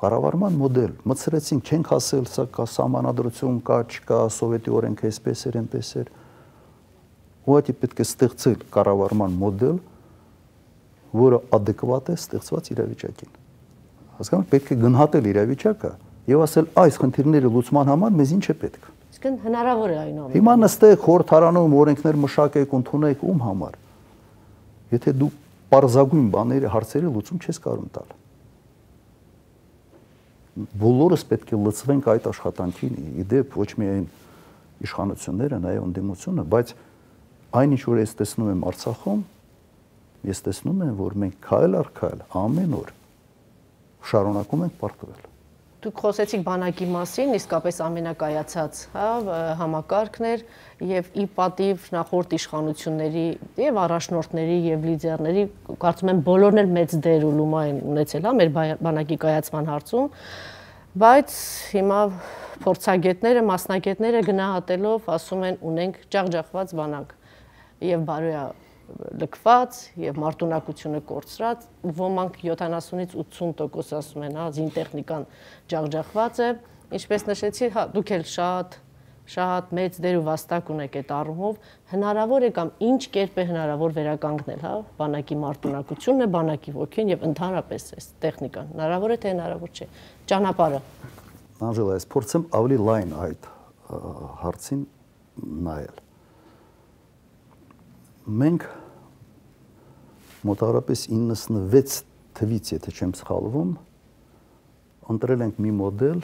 կառավարման մոդել, մտցրեցինք, չենք ասել սա կա սահմանադրություն, կա, չկա, սովետի օրենքը այսպես էր, այնպես էր։ Ուղղակի պետք է ստեղծել կառավարման մոդել, որը adekvat է ստեղծված իրավիճակին։ Հասկանաք, պետք է գնահատել իրավիճակը եւ ասել այս խնդիրների լուծման համար մեզ ինչ է պետք։ Իսկն հնարավոր է այնուամենայնիվ։ Հիմա նստեք խորհրդարանում օրենքներ մշակեք, ընդունեք ում համար։ Եթե դու պարզագույն բաների հարցերի լուծում չես կարող տալ։ Բոլորս պետք է լծվենք այդ աշխատանքին, իդեպ ոչ միայն իշխանությունները, նաեւ ընդդիմությունը, բայց այն ինչ որ ես տեսնում եմ Արցախում, ես տեսնում եմ, որ մենք քայլ առ քայլ ամեն օր շարունակում ենք պարտվել։ Դուք խոսեցիք բանակի մասին, իսկապես ամենակայացած համակարգն էր եւ ի պատիվ նախորդ իշխանությունների եւ առաջնորդների եւ լիդերների, կարծում եմ բոլորն էլ մեծ դեր ու լումա են ունեցել մեր բանակի կայացման հարցում, բայց հիմա փորձագետները, մասնագետները գնահատելով ասում են ունենք ջախջախված բանակ եւ բարոյա լքված եւ մարտունակությունը կորցրած, ոմանք 70-ից 80% ասում են, զինտեխնիկան ջախջախված է, ինչպես նշեցի, դուք էլ շատ մեծ դեր ու վաստակ ունեք այդ առումով, հնարավոր է կամ ինչ կերպ է հնարավոր վերականգնել, բանակի մարտունակությունը, բանակի ոգին եւ ընդհանրապես այս տեխնիկան, հնարավոր է թե հնարավոր չէ, ճանապարհը։ Անժելա, ես փորձեմ ավելի լայն այդ հարցին նայել։ Մենք մոտավորապես 96 թվից, եթե չեմ սխալվում, ընտրել ենք մի մոդել,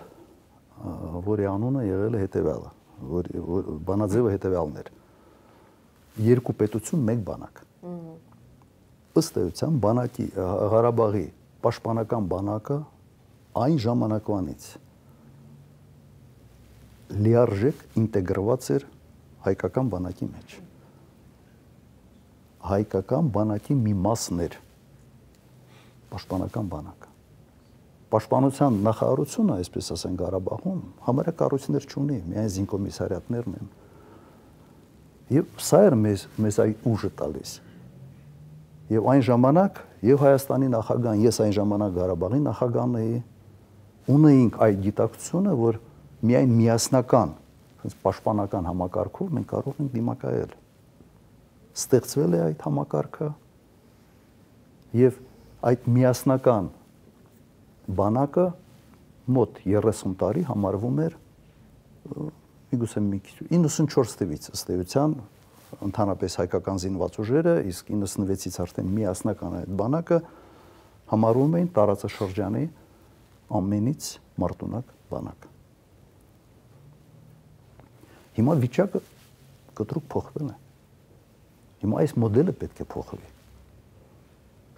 որի անունը եղել է հետևյալը, բանաձևը հետևյալն էր. երկու պետություն, մեկ բանակ։ Ըստ էության բանակի Ղարաբաղի պաշտպանական բանակը այն ժամանակվանից լիարժեք ինտեգրված էր հայկական բանակի մեջ։ Հայկական բանակի մի մասն էր պաշտպանական բանակը։ Պաշտպանության նախարարությունը, այսպես ասենք, Ղարաբաղում համարյա կառույցներ չունի, միայն զինկոմիսարիատներն են։ Եվ սա էր մեզ այդ ուժը տալիս։ Եվ այն ժամանակ եւ Հայաստանի նախագահան, ես այն ժամանակ Ղարաբաղի նախագահն էի, ունեինք այդ գիտակցությունը, որ միայն միասնական, պաշտպանական համակարգով մենք կարող ենք դիմակայել։ Ստեղծվել է այդ համակարգը եւ այդ միասնական բանակը մոտ 30 տարի համարվում էր միգուցե 94 թվից ըստ էության ընդհանրապես հայկական զինված ուժերը, իսկ 96-ից արդեն միասնական այդ բանակը համարվում էին տարածաշրջանի ամենից մարտունակ բանակ։ Հիմա վիճակը կտրուկ փոխվել է։ Հիմա այս մոդելը պետք է փոխվի։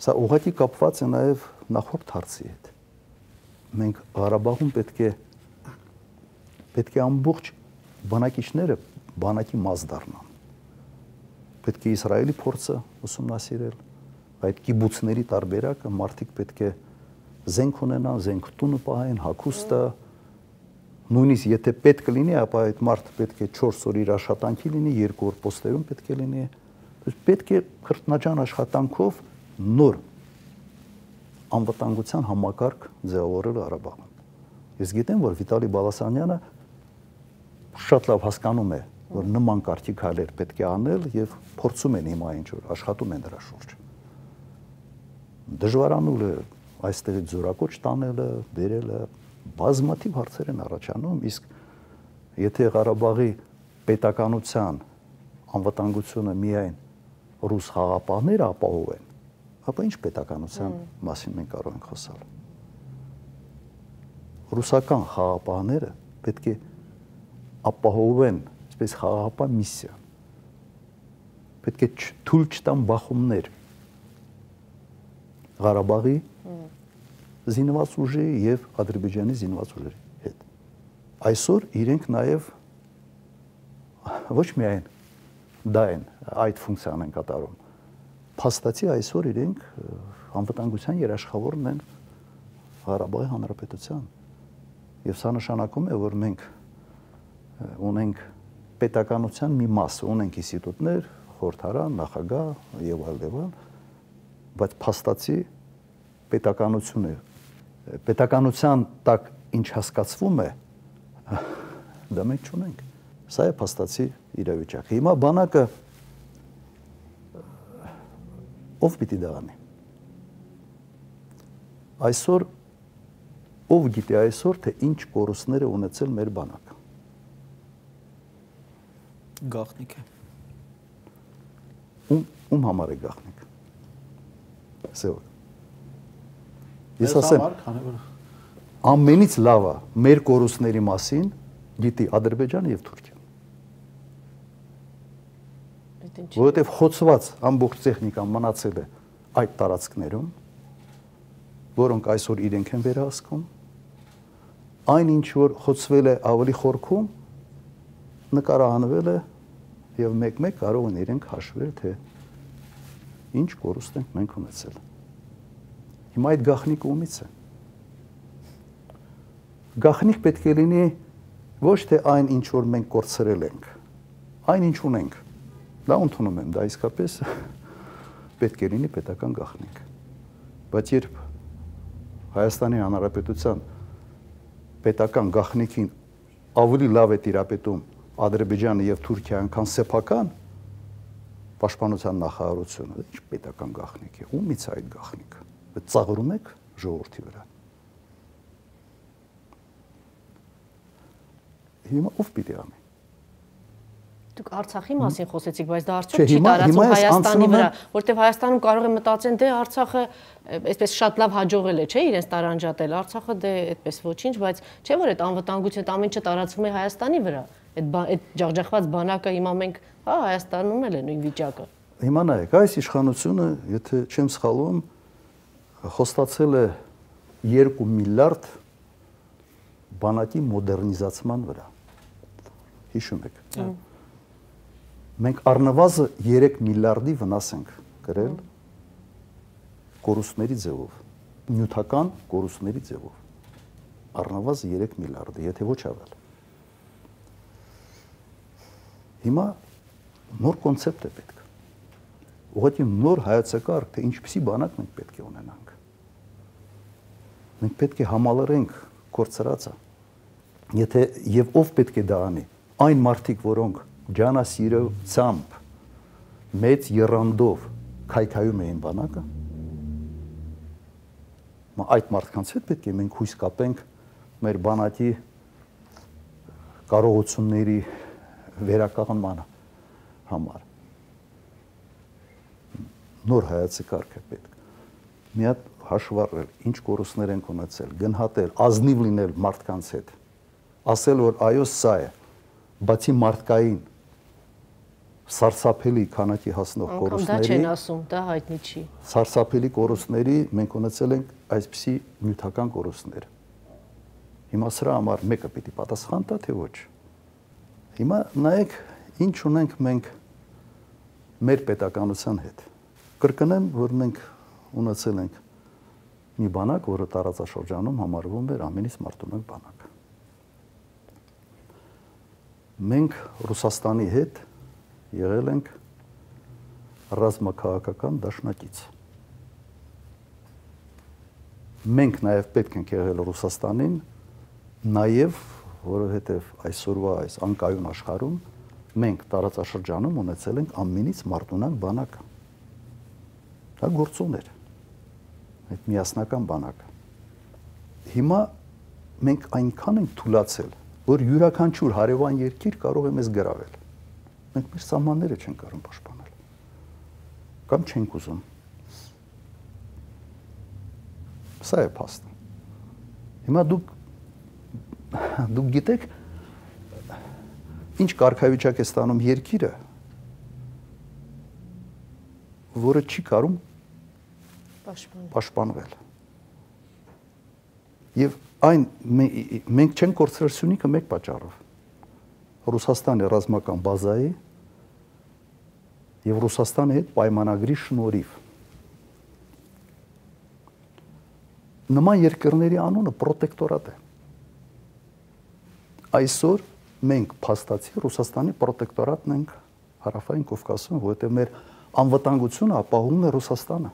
Սա ուղղակի կապված է նաև նախորդ հարցի հետ։ Մենք Ղարաբաղում պետք է ամբողջ բանակիչները բանակի մաս դառնան։ Պետք է Իսրայելի փորձը ուսումնասիրել, այդ կիբուցների տարբերակը, մարդիկ պետք է զենք ունենան, զենք տունը պահեն, հագուստը, նույնիսկ եթե պետք լինի, ապա այդ մարդը պետք է 4 օր իր աշխատանքի լինի, 2 օր պոստերում պետք է լինի։ Պետք է քրտնաջան աշխատանքով նոր անվտանգության համակարգ ձևավորել Ղարաբաղում։ Ես գիտեմ, որ Վիտալի Բալասանյանը շատ լավ հասկանում է, որ նման կարգի քայլեր պետք է անել եւ փորձում են հիմա ինչ-որ աշխատում են դրա շուրջ։ Դժվարանուլ է այստեղից զորակոչ տանելը, բերելը, բազմաթիվ հարցեր են առաջանում, իսկ եթե Ղարաբաղի պետականության անվտանգությունը միայն ռուս խաղապահները ապահովեն, ապա ինչ պետականության մասին մենք կարող ենք խոսալ։ Ռուսական խաղապահները պետք է ապահովեն այսպես խաղաղապահ միսիա։ Պետք է թույլ չտան բախումներ Ղարաբաղի զինված ուժի եւ Ադրբեջանի զինված ուժերի հետ։ Այսօր իրենք նաեւ ոչ միայն դա են այդ ֆունկցիան են կատարում։ Փաստացի այսօր իրենք անվտանգության երաշխավորն են Ղարաբաղի հանրապետության։ Եվ սա նշանակում է, որ մենք ունենք պետականության մի մաս, ունենք ինստիտուտներ, խորհրդարան, նախագահ եւ այլն, բայց փաստացի պետականության տակ ինչ հասկացվում է, դա մենք չունենք։ Սա է փաստացի իրավիճակը։ Հիմա բանակը ով պիտի դա անի։ Այսօր ով գիտի այսօր, թե ինչ կորուստներ է ունեցել մեր բանակը։ Գաղտնիք է։ Ում համար է գաղտնիք։ Սեո։ Ես ասեմ, ամենից լավը մեր կորուստների մասին գիտի Ադրբեջանը եւ Թուրքիան։ Որովհետեւ խոցված ամբողջ տեխնիկան մնացել է այդ տարածքներում, որոնք այսօր իրենք են վերահսկում, այն ինչ որ խոցվել է ավելի խորքում, նկարահանվել է եւ մեկ-մեկ կարող են իրենք հաշվել, թե ինչ կորուստ ենք մենք ունեցել։ Հիմա այդ գաղտնիքը ումից է։ Գաղտնիք պետք է լինի ոչ թե այն, ինչ որ մենք կորցրել ենք, այն ինչ ունենք։ Դա ընդունում եմ, դա իսկապես պետք է լինի պետական գաղտնիք։ Բայց երբ Հայաստանի Հանրապետության պետական գաղտնիքին ավելի լավ է տիրապետում Ադրբեջանը եւ Թուրքիան, քան սեփական պաշտպանության նախարարությունը, ինչ պետական գաղտնիք է, ումից է այդ գաղտնիքը։ Ծաղրում եք ժողովրդի վրա։ Հիմա ով պիտի անի։ Դուք Արցախի մասին խոսեցիք, բայց դա արդյոք չի տարածվում Հայաստանի վրա, որտեղ Հայաստանում կարող են մտածեն, դե Արցախը այսպես շատ լավ հաջողել է, չէ՞, իրենց տարանջատել։ Արցախը դե այդպես ոչինչ, բայց չէ՞ որ այդ անվտանգությունը ամեն ինչը տարածվում է Հայաստանի վրա։ Այդ ջախջախված բանակը հիմա մենք, հա, Հայաստանում էլ է նույն վիճակը։ Հիմա նայեք, այս իշխանությունը, եթե չեմ սխալվում, խոստացել է 2 միլիարդ բանակի մոդեռնիզացման վրա։ Հիշում եք։ Մենք առնվազն 3 միլիարդի վնաս ենք կրել կորուստների ձևով, նյութական կորուստների ձևով։ Առնվազն 3 միլիարդի, եթե ոչ ավել։ Հիմա նոր կոնցեպտ է պետք։ Ուղղակի նոր հայեցակարգ, թե ինչպիսի բանակ մենք պետք է ունենանք։ Մենք պետք է համալրենք կորցրածը։ Եթե եւ ով պետք է դա անի, այն մարդիկ, որոնք ջանասիրությամբ մեծ երանդով քայքայում էին բանակը, այդ մարդկանց հետ պետք է մենք հույս կապենք մեր բանակի կարողությունների վերականգնման համար։ Նոր հայացի կարգ է պետք։ Մի հատ հաշվառել, ինչ կորուստներ ենք ունեցել, գնահատել, ազնիվ լինել մարդկանց հետ, ասել, որ այո, սա է, բացի մարդկային սարսափելի քանակի հասնող կորուստների, դա չեն ասում, դա հայտնի չի։ Սարսափելի կորուստների մենք ունեցել ենք այսպիսի նյութական կորուստներ։ Հիմա սրա համար մեկը պիտի պատասխան տա, թե ոչ։ Հիմա նայեք, ինչ ունենք մենք մեր պետականության հետ։ Կրկնեմ, որ մենք ունեցել ենք մի բանակ, որը տարածաշրջանում համարվում էր ամենից մարտունակ բանակ։ Մենք Ռուսաստանի հետ եղել ենք ռազմաքաղաքական դաշնակից։ Մենք նաև պետք ենք եղել Ռուսաստանին, նաև որովհետև այսօրվա այս անկայուն աշխարհում մենք տարածաշրջանում ունեցել ենք ամենից մարտունակ բանակը։ Դա գործոն էր, այդ միասնական բանակը։ Հիմա մենք այնքան ենք թուլացել, որ յուրաքանչյուր հարևան երկիր կարող է մեզ գրավել։ Մենք մեր սահմանները չենք կարող պաշտպանել։ Կամ չենք ուզում։ Սա է փաստը։ Հիմա դուք գիտեք, ինչ կարգավիճակ է ստանում երկիրը, որը չի կարող պաշտպանվել։ Եվ այն մենք չենք կորցրել Սյունիքը մեկ պատճառով։ Ռուսաստանի ռազմական բազայի եւ Ռուսաստանի հետ պայմանագրի շնորհիվ։ Նման երկրների անունը պրոտեկտորատ է։ Այսօր մենք փաստացի Ռուսաստանի պրոտեկտորատն ենք Հարավային Կովկասում, որովհետեւ մեր անվտանգությունը ապահովում է Ռուսաստանը։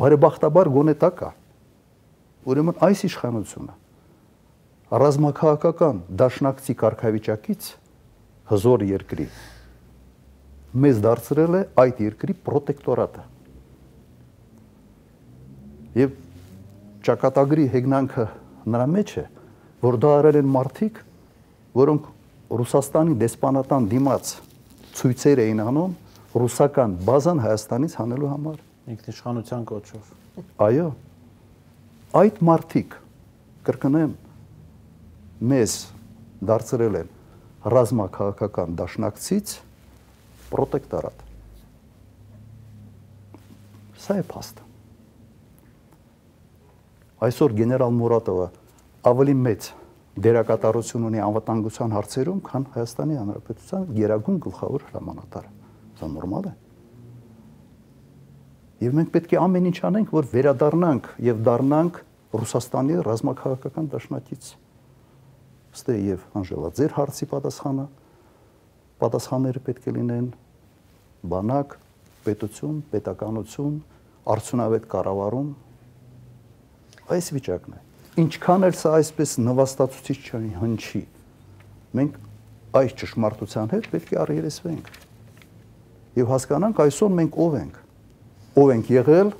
Բարեբախտաբար գոնե դա կա։ Ուրեմն այս իշխանությունը ռազմաքաղաքական դաշնակցի կարգավիճակից հզոր երկրի մեզ դարձրել է այդ երկրի պրոտեկտորատը։ Եվ ճակատագրի հեգնանքը նրա մեջ է, որ դա արել են մարդիկ, որոնք Ռուսաստանի դեսպանատան դիմաց ցույցեր էին անում ռուսական բազան Հայաստանից հանելու համար։ Ինքնիշխանության կոչով։ Այո, այդ մարդիկ, կրկնեմ, մեզ դարձրել են ռազմաքաղաքական դաշնակցից պրոտեկտորատ։ Սա է փաստը։ Այսօր գեներալ Մուրատովը ավելի մեծ դերակատարություն ունի անվտանգության հարցերում, քան Հայաստանի Հանրապետության գերագույն գլխավոր հրամանատարը։ Սա նորմալ է։ Եվ մենք պետք է ամեն ինչ անենք, որ վերադառնանք եւ դառնանք Ռուսաստանի ռազմաքաղաքական դաշնակից։ Ստե եւ Անժելա, ձեր հարցի պատասխանները պետք է լինեն բանակ, պետություն, պետականություն, արդյունավետ կառավարում։ Այս վիճակն է։ Ինչքան էլ սա այսպես նվաստացուցիչ հնչի, մենք այս ճշմարտության հետ պետք է առերեսվենք եւ հասկանանք այսօր մենք ով ենք եղել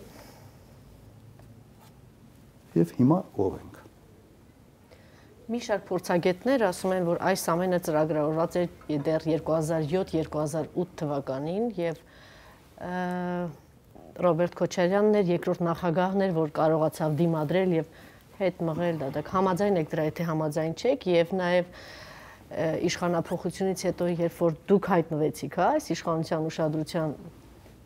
եւ հիմա ով ենք։ Մի շարք փորձագետներ ասում են, որ այս ամենը ծրագրավորված էր դեռ 2007-2008 թվականին եւ Ռոբերտ Քոչարյանն էր երկրորդ նախագահն էր, որ կարողացավ դիմադրել եւ հետ մղել դա։ Դուք համաձայն եք դրա, եթե համաձայն չեք, եւ նաեւ իշխանափոխությունից հետո, երբ որ դուք հայտնվեցիք, այս իշխանության ուշադրության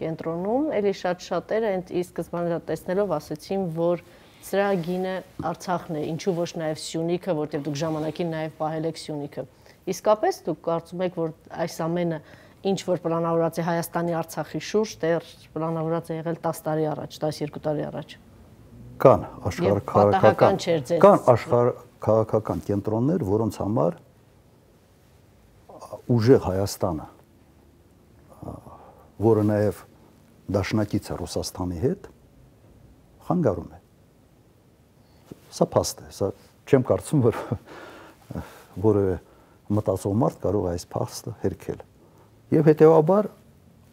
կենտրոնում, ելի շատերը այդ ի սկզբանե տեսնելով ասացին, որ սրա գինը Արցախն է, ինչու ոչ նաեւ Սյունիքը, որտեղ դուք ժամանակին նաեւ պահել եք Սյունիքը։ Իսկապես դուք կարծում եք, որ այս ամենը ինչ որ պլանավորված է Հայաստանի Արցախի շուրջ, դեռ պլանավորված է եղել 10 տարի առաջ, 12 տարի առաջ։ Կան աշխարհաքաղաքական կենտրոններ, որոնց համար ուժեղ Հայաստանը, որը նաև դաշնակից է Ռուսաստանի հետ, խանգարում է։ Սա փաստ է, սա չեմ կարծում, որ որևէ մտածող մարդ կարող է այս փաստը հերքել։ Եվ հետեւաբար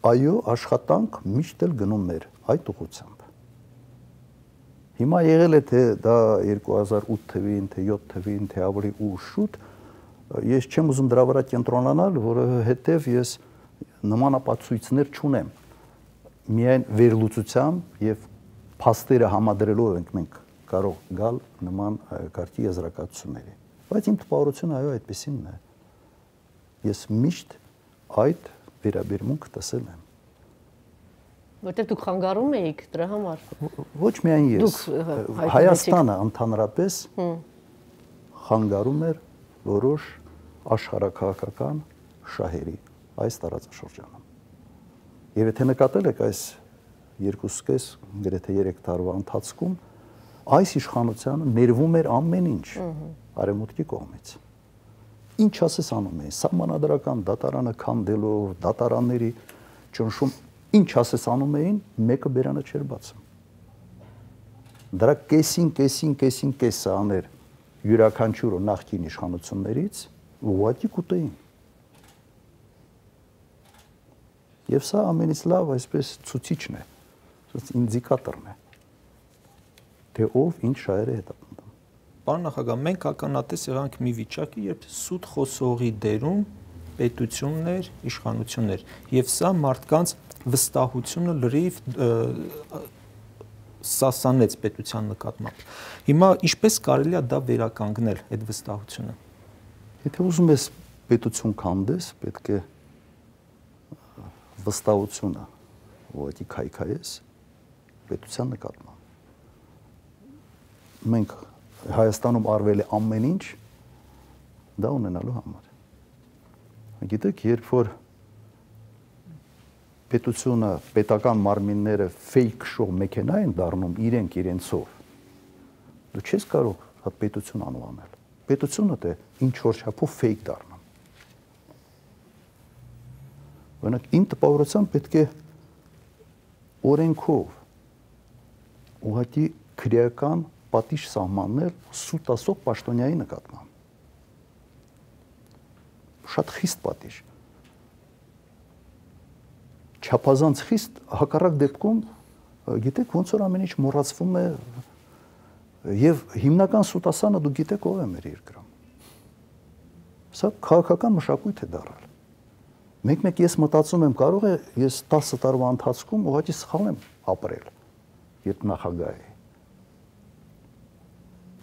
այո, աշխատանք միշտ էլ գնում էր այդ ուղղությամբ։ Հիմա եղել է թե դա 2008 թվին, թե 7 թվին, թե ավելի ուշ շուտ, ես չեմ ուզում դրա վրա կենտրոնանալ, որովհետև ես նմանապատասխաններ չունեմ։ Միայն վերլուծությամբ եւ փաստերը համադրելով ենք մենք կարող գալ նման կարգի եզրակացությունների։ Բայց իմ տպավորությունը այո այդպեսինն է։ Ես միշտ այդ վերաբերմունք տեսել եմ։ Որտեղ դուք խանգարում էիք դրա համար։ Ոչ միայն ես, Հայաստանը ընդհանրապես խանգարում էր որոշ աշխարհակահաղական շահերի այս տարածաշրջանում։ Եվ եթե նկատել եք այս 2.5 գրեթե 3 տարվա ընթացքում այս իշխանությանը ներվում էր ամեն ինչ արևմուտքի կողմից։ Ինչ ասես անում էին, սահմանադրական դատարանը քանդելով, դատարանների ճնշում, ինչ ասես անում էին, մեկը բերանը չէր բացում։ Դրա կեսը աներ յուրաքանչյուրը նախկին իշխանություններից ուղղակի կուտեին։ Եվ սա ամենից լավ այսպես ցուցիչն է, ինդիկատորն է, թե ով ինչ շահեր է հետապնդում։ Պարոն նախագահ, մենք ականատես եղանք մի վիճակի, երբ սուտ խոսողի դերում պետություններ, իշխանություններ, եւ սա մարդկանց վստահությունը լրիվ սասանեց պետության նկատմամբ։ Հիմա ինչպես կարելի է դա վերականգնել, այդ վստահությունը։ Եթե ուզում ես պետություն քանդես, պետք է վստահությունը ուղղակի քայքայես պետության նկատմամբ։ Մենք Հայաստանում արվել է ամեն ինչ դա ունենալու համար։ Գիտեք, երբ որ պետությունը, պետական մարմինները fake show մեքենա են դառնում իրենցով, դու չես կարող այդ պետություն անվանել։ Պետությունը դե ինչ որ չափով fake դառնում։ Օրինակ, իմ տպավորությամբ պետք է օրենքով ուղղակի քրեական պատիժ սահմաններ սուտ ասող պաշտոնյայի նկատմամբ։ Շատ խիստ պատիժ։ Չափազանց խիստ, հակառակ դեպքում, գիտեք, ոնց որ ամեն ինչ մոռացվում է եւ հիմնական սուտասանը դու գիտեք ով է մեր երկրում։ Սա քաղաքական մշակույթ է դառել։ Մեկ-մեկ ես մտածում եմ, կարող է ես 10 տարվա ընթացքում ուղղակի սխալ եմ ապրել, երբ նախագահ էի։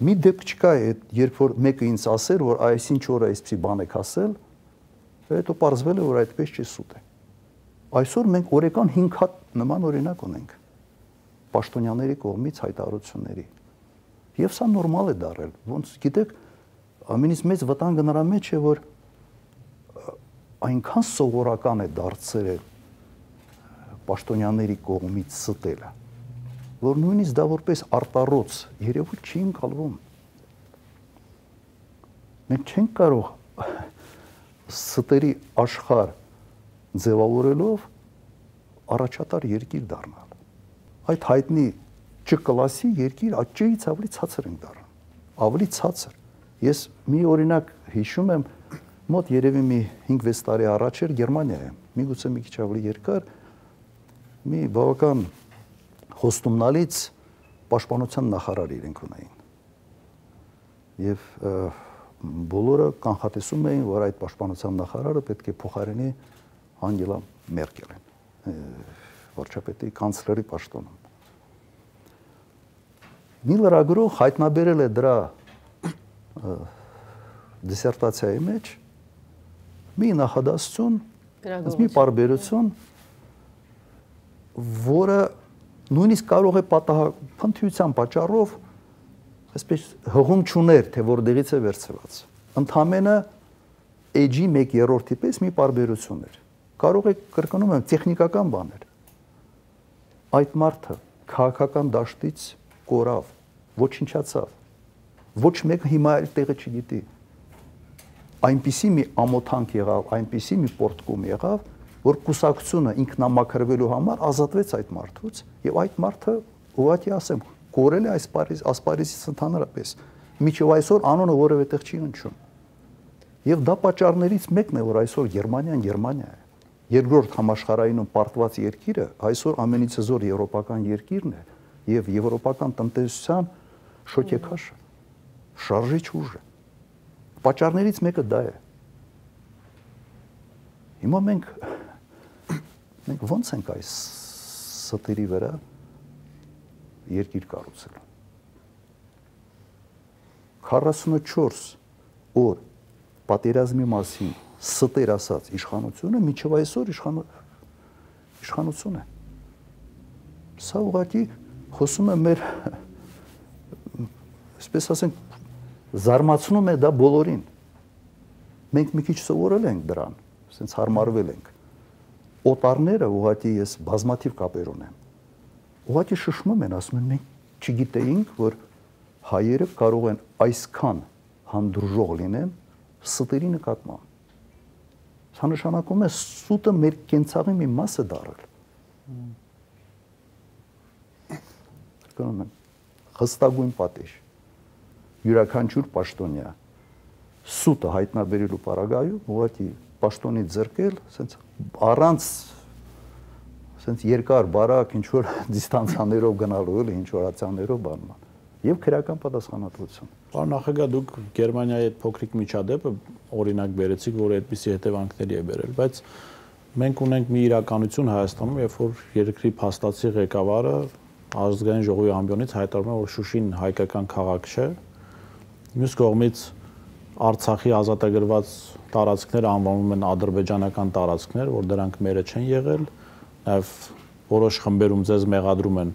Մի դեպք չկա, երբ որ մեկը ինձ ասեր, որ այսինչ օրը այսպիսի բան եք ասել, հետո պարզվել է, որ այդպես չի սուտ է։ Այսօր մենք օրական 5 հատ նման օրինակ ունենք պաշտոնյաների կողմից հայտարարությունների։ Եվ սա նորմալ է դառել։ Ոնց գիտեք, ամենից մեծ վտանգը նրա մեջ է, որ այնքան սովորական է դարձել պաշտոնյաների կողմից ստելը, որ նույնիսկ դա որպես արտառոց երևույթ չի ընկալվում։ Մենք չենք կարող ստերի աշխարհ ձևավորելով առաջատար երկիր դառնալ։ Այդ հայտնի Չ-կլասի երկիր Չ-ից ավելի ցածր ենք դառնում։ Ավելի ցածր։ Ես մի օրինակ հիշում եմ, մոտ երևի մի 5-6 տարի առաջ էր Գերմանիայում, միգուցե մի քիչ ավելի երկար, մի բավական խոստումնալից պաշտպանության նախարար իրենք ունեին։ Եվ բոլորը կանխատեսում էին, որ այդ պաշտպանության նախարարը պետք է փոխարինի Անգելա Մերկելին, վարչապետի կանցլերի պաշտոնում։ Մի լրագրող հայտնաբերել է դրա դիսերտացիայի մեջ մի նախադասություն, մի պարբերություն, որը նույնիսկ կարող է փնթիության պատճառով այսպես հղում չուներ, թե որտեղից է վերցված։ Ընդամենը էջի 1/3-ի պես մի պարբերություն էր։ Կարող է կրկնում եմ տեխնիկական բաներ։ Այդ մարդը քաղաքական դաշտից կորավ, ոչնչացավ։ Ոչ մեկը հիմա այլ տեղը չգիտի։ Այնպիսի մի ամոթանք եղավ, այնպիսի մի պորտկում եղավ, որ կուսակցությունը ինքնամաքրվելու համար ազատվեց այդ մարդուց, եւ այդ մարդը ուղղակի ասեմ, կորել է այս ասպարեզից ընդհանրապես։ Միջև այսօր անունը որևէ տեղ չի հնչում։ Եվ դա պատճառներից մեկն է, որ այսօր Գերմանիան Գերմանիա է։ Երկրորդ համաշխարհայինում պարտված երկիրը այսօր ամենից հզոր եվրոպական երկիրն է եւ եվրոպական տնտեսության շոկեքաշը, շարժիչ ուժը։ Պատճառներից մեկը դա է։ Հիմա մենք ո՞նց ենք այս ստերի վրա երկիր կառուցել։ 44 օր պատերազմի մասին ստեր ասած իշխանությունը մինչև այսօր իշխանություն է։ Սա ուղղակի խոսում է մեր, այսպես ասենք, զարմացնում է դա բոլորին։ Մենք մի քիչ սովորել ենք դրան, ասենց հարմարվել ենք։ Օտարները ուղղակի ես բազմաթիվ կապեր ունեմ։ Ուղղակի շշմում են, ասում են մենք չգիտեինք, որ հայերը կարող են այսքան հանդուրժող լինեն ստերի նկատմամբ։ Սա նշանակում է սուտը մեր կենցաղի մի մաս է դառել։ Կրկնում եմ, հստակույն պատիժ։ Յուրաքանչյուր պաշտոնյա սուտը հայտնաբերելու պարագայում ուղղակի պաշտոնից զրկել, ասենց առանց ասենց երկար բարակ ինչ որ դիստանցիաներով գնալու էլի ինչ որ ացիաներով բանման եւ քրեական պատասխանատվություն։ Պարոն նախագահ, դուք Գերմանիայի այդ փոքրիկ միջադեպը օրինակ բերեցիք, որը այդպիսի հետևանքների է բերել, բայց մենք ունենք մի իրականություն Հայաստանում, երբ որ երկրի փաստացի ղեկավարը ազգային ժողովի ամբիոնից հայտարարում է, որ Շուշին հայկական քաղաք չէ, մյուս կողմից Արցախի ազատագրված տարածքները անվանում են ադրբեջանական տարածքներ, որ դրանք մերը չեն եղել, նաև որոշ խմբերում ձեզ մեղադրում են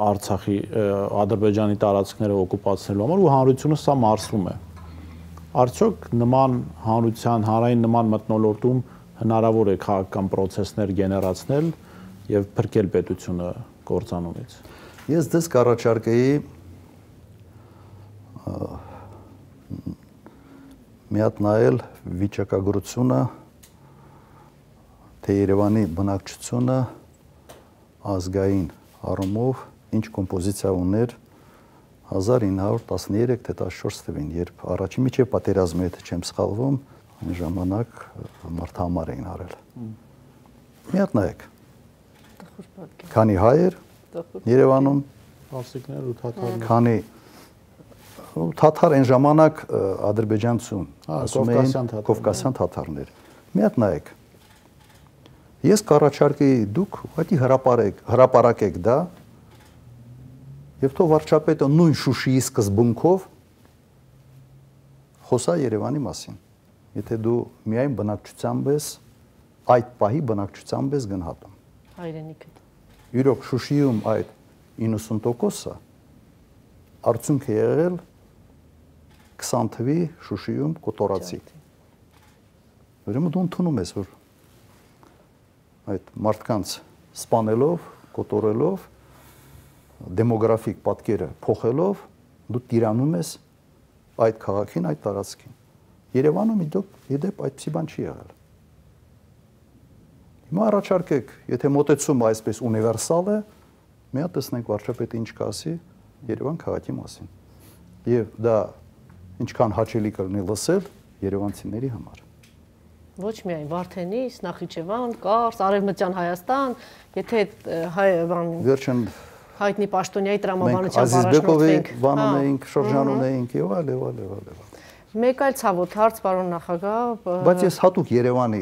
Արցախի Ադրբեջանի տարածքները օկուպացնելու համար ու հանրությունը սա մարսում է։ Արդյոք նման հանրության հանրային նման մթնոլորտում հնարավոր է քաղաքական process-ներ գեներացնել եւ փրկել պետությունը կործանումից։ Ես դες կառաջարկեի մի հատ նայել վիճակագրությունը, թե Երևանի բնակչությունը ազգային առումով ինչ կոմպոզիցիա ուներ 1913 թե 14 թվին, երբ առաջին միջև պատերազմի հետ չեմ սխալվում, այն ժամանակ մարդահամար էին արել։ Մի հատ նայեք։ Քանի հայեր Երևանում, Պարսիկներ ու թաթարներ։ Քանի թաթար այն ժամանակ ադրբեջանցուն, ասում էին կովկասյան թաթարներ։ Մի հատ նայեք։ Ես կառաջարկեի դուք ուղղակի հրապարակեք դա եւ թող վարչապետը նույն Շուշիի սկզբունքով խոսա Երևանի մասին։ Եթե դու միայն բնակչությամբ ես, այդ պահի բնակչությամբ ես գնահատում։ Հայրենիքը։ Իրոք Շուշիում այդ 90%-ը արդյունք է եղել 20 թվի Շուշիում կոտորացի։ Ուրեմն դու ընդունում ես, որ այդ մարդկանց սպանելով, կոտորելով, դեմոգրաֆիկ պատկերը փոխելով, դու տիրանում ես այդ քաղաքին, այդ տարածքին։ Երևանում իդեպ այդպիսի բան չի եղել։ Հիմա առաջարկեք, եթե մոտեցումը այսպես ունիվերսալ է, մի հատ տեսնենք վարչապետը ինչ կասի Երևան քաղաքի մասին։ Եվ դա ինչքան հաճելի կլինի լսել երևանցիների համար։ Ոչ միայն Վարդենիս, Նախիջևան, Կարս, Արևմտյան Հայաստան, եթե վերջն հայտնի պաշտոնյայի տրամաբանությամբ առաջնորդվենք, բանում էինք, շրջանում էինք եւ այլ։ Մեկ այլ ցավոտ հարց, պարոն նախագահ, բայց ես հատուկ Երևանի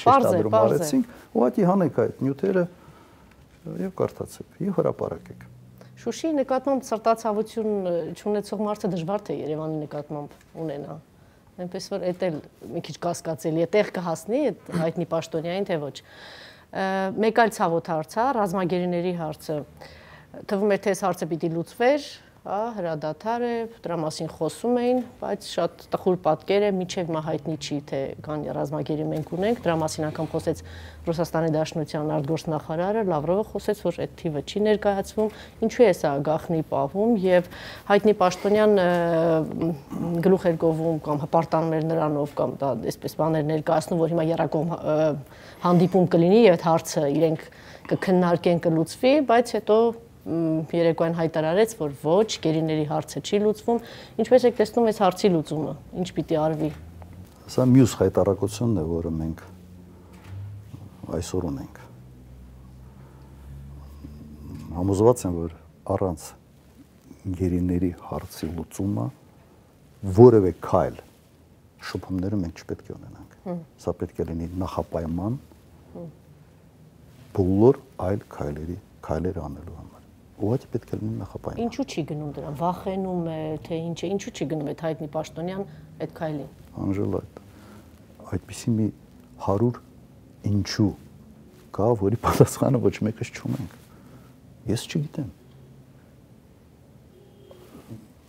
շեշտադրում արեցինք, ուղղակի հանեք այդ նյութերը եւ կարդացեք եւ հրապարակեք։ Շուշիի նկատմամբ սրտացավություն չունեցող մարդը դժվար թե Երևանի նկատմամբ ունենա։ Այնպես որ էդ էլ մի քիչ կասկածելի է, տեղ կհասնի այդ հայտնի պաշտոնյային թե ոչ։ Մեկ այլ ցավոտ հարց է, ռազմագերիների հարցը։ Թվում է թե այս հարցը պիտի լուծվեր, հրադադար է, դրա մասին խոսում էին, բայց շատ տխուր պատկեր է, մինչև հիմա հայտնի չի, թե կան ռազմագերի մենք ունենք, դրա մասին անգամ խոսեց Ռուսաստանի Դաշնության արտգործնախարարը, Լավրովը խոսեց, որ այդ թիվը չի ներկայացվում, ինչու է սա գաղտնի պահվում եւ հայտնի պաշտոնյան գլուխ էր գովում կամ հպարտանում էր նրանով կամ դա այսպես բաներ ներկայացնում, որ հիմա երակողմ հանդիպում կլինի եւ այդ հարցը իրենք կքննարկեն, կլուծվի, բայց հետո երեկոյան հայտարարեց, որ ոչ, գերիների հարցը չի լուծվում։ Ինչպես եք տեսնում այս հարցի լուծումը, ինչ պիտի արվի։ Սա մյուս հայտարարությունն է, որը մենք այսօր ունենք։ Համոզված եմ, որ առանց գերիների հարցի լուծումը որևէ քայլ շփումները մենք չպետք է ունենանք։ Սա պետք է լինի նախապայման բոլոր այլ քայլեր անելու համար։ Ուղղակի պետք է լինի նախապայման։ Ինչու չի գնում դրան, վախենում է, թե ինչ է, ինչու չի գնում այդ հայտնի պաշտոնյան այդ քայլին։ Անժելա, այդպիսի մի 100 ինչու կա, որի պատասխանը ոչ մեկս չունենք։ Ես չգիտեմ։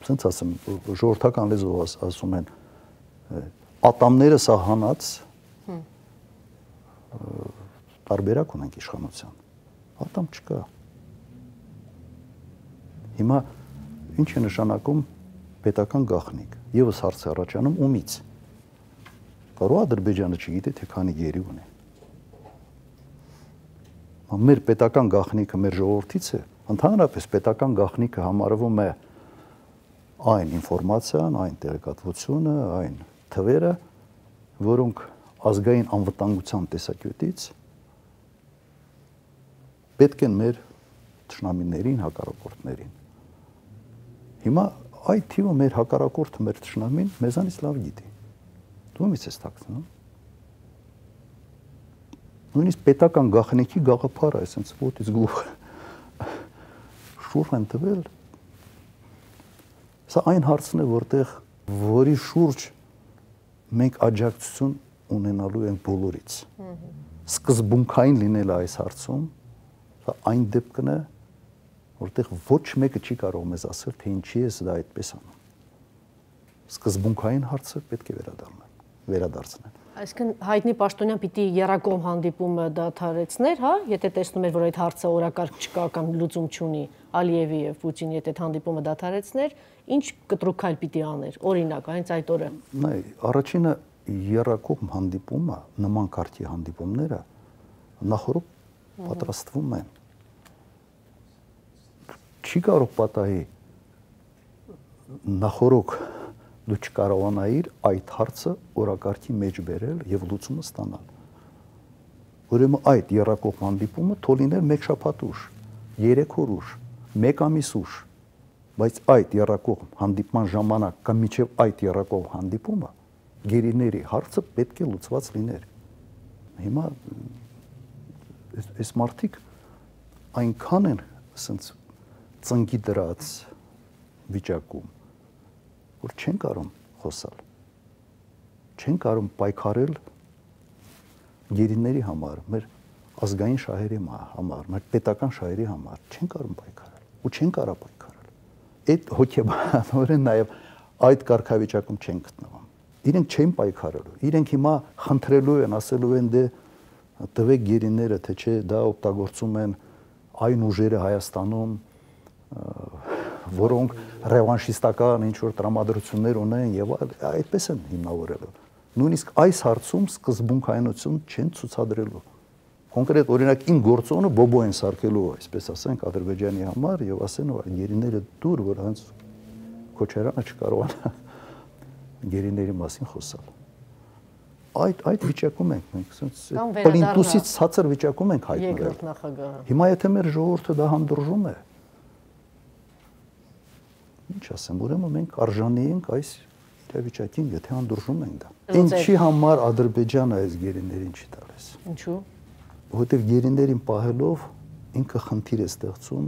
Սենց ասեմ, ժողովրդական լեզվով ասում են ատամները սահանած տարբերակ ունենք իշխանության։ Ատամ չկա։ Հիմա ինչ է նշանակում պետական գաղտնիք։ Եվս հարց է առաջանում ումից։ Կարող Ադրբեջանը չգիտի, թե քանի գերի ունի։ Մեր պետական գաղտնիքը մեր ժողովրդից է, ընդհանրապես պետական գաղտնիքը համարվում է այն ինֆորմացիան, այն տեղեկատվությունը, այն թվերը, որոնք ազգային անվտանգության տեսակետից պետք են մեր թշնամիներին, հակառակորդներին։ Հիմա այդ թիվը մեր հակառակորդը, մեր թշնամին մեզանից լավ գիտի։ Դու ումից ես թաքցնում։ Նույնիսկ պետական գաղտնիքի գաղափարը, այսինքն ոտից գլուխը շուրջ են տվել։ Սա այն հարցն է, որի շուրջ մենք աջակցություն ունենալու ենք բոլորից։ Սկզբունքային լինելը այս հարցում, սա այն դեպքն է, որտեղ ոչ մեկը չի կարող մեզ ասել, թե ինչի է դա այդպես անում։ Սկզբունքային հարցը պետք է վերադարձնել։ Այսինքն հայտնի պաշտոնյան պիտի եռակողմ հանդիպումը դադարեցներ, հա, եթե տեսնում էր, որ այդ հարցը օրակարգ չկա կամ լուծում չունի, Ալիևի եւ Պուտինի հետ այդ հանդիպումը դադարեցներ, ինչ կտրուկ քայլ պիտի աներ, օրինակ, հենց այդ օրը։ Նայ, առաջինը եռակողմ հանդիպումը, նման կարգի հանդիպումները նախորդ պատրաստվում են։ Չի կարող պատահի նախորդ դու չկարողանայիր այդ հարցը օրակարգի մեջ բերել եւ լուծումը ստանալ։ Ուրեմն այդ եռակողմ հանդիպումը թողնել 1 շաբաթ ուշ, 3 օր ուշ, 1 ամիս ուշ, բայց այդ եռակողմ հանդիպման ժամանակ կամ մինչեւ այդ եռակողմ հանդիպումը գերիների հարցը պետք է լուծված լիներ։ Հիմա այս մարդիկ այնքան են ասենց ծնկի դրած վիճակում, որ չեն կարող խոսալ, չեն կարող պայքարել գերիների համար, մեր ազգային շահերի համար, մեր պետական շահերի համար, չեն կարող պայքարել ու չեն կարող պայքարել։ Այդ հոգեբանորեն նաև այդ կարգավիճակում չեն գտնվում։ Իրենք չեն պայքարելու, իրենք հիմա խնդրելու են, ասելու են դե տվեք գերիները, թե չէ դա օգտագործում են այն ուժերը Հայաստանում, որոնք ռևանշիստական ինչ-որ տրամադրություններ ունեն եւ այդպես են հիմնավորելու։ Նույնիսկ այս հարցում սկզբունքայնություն չեն ցուցադրելու։ Կոնկրետ օրինակ իմ գործոնը բոբո են սարքելու, այսպես ասենք, Ադրբեջանի համար եւ ասեն, որ գերիները դուր, որ հենց Քոչարյանը չկարողանա գերիների մասին խոսալ։ Այդ վիճակում ենք մենք, ասենք, պլինտուսից ցածր վիճակում ենք հայտնվել։ Երկրորդ նախագահը։ Հիմա եթե մեր ժողովուրդը դա հանդուրժում է, ինչ ասեմ, ուրեմն մենք արժանի ենք այս իրավիճակին, եթե հանդուրժում ենք դա։ Ինչի համար Ադրբեջանը այս գերիներին չի տալիս։ Ինչու՞։ Որովհետև գերիներին պահելով ինքը խնդիր է ստեղծում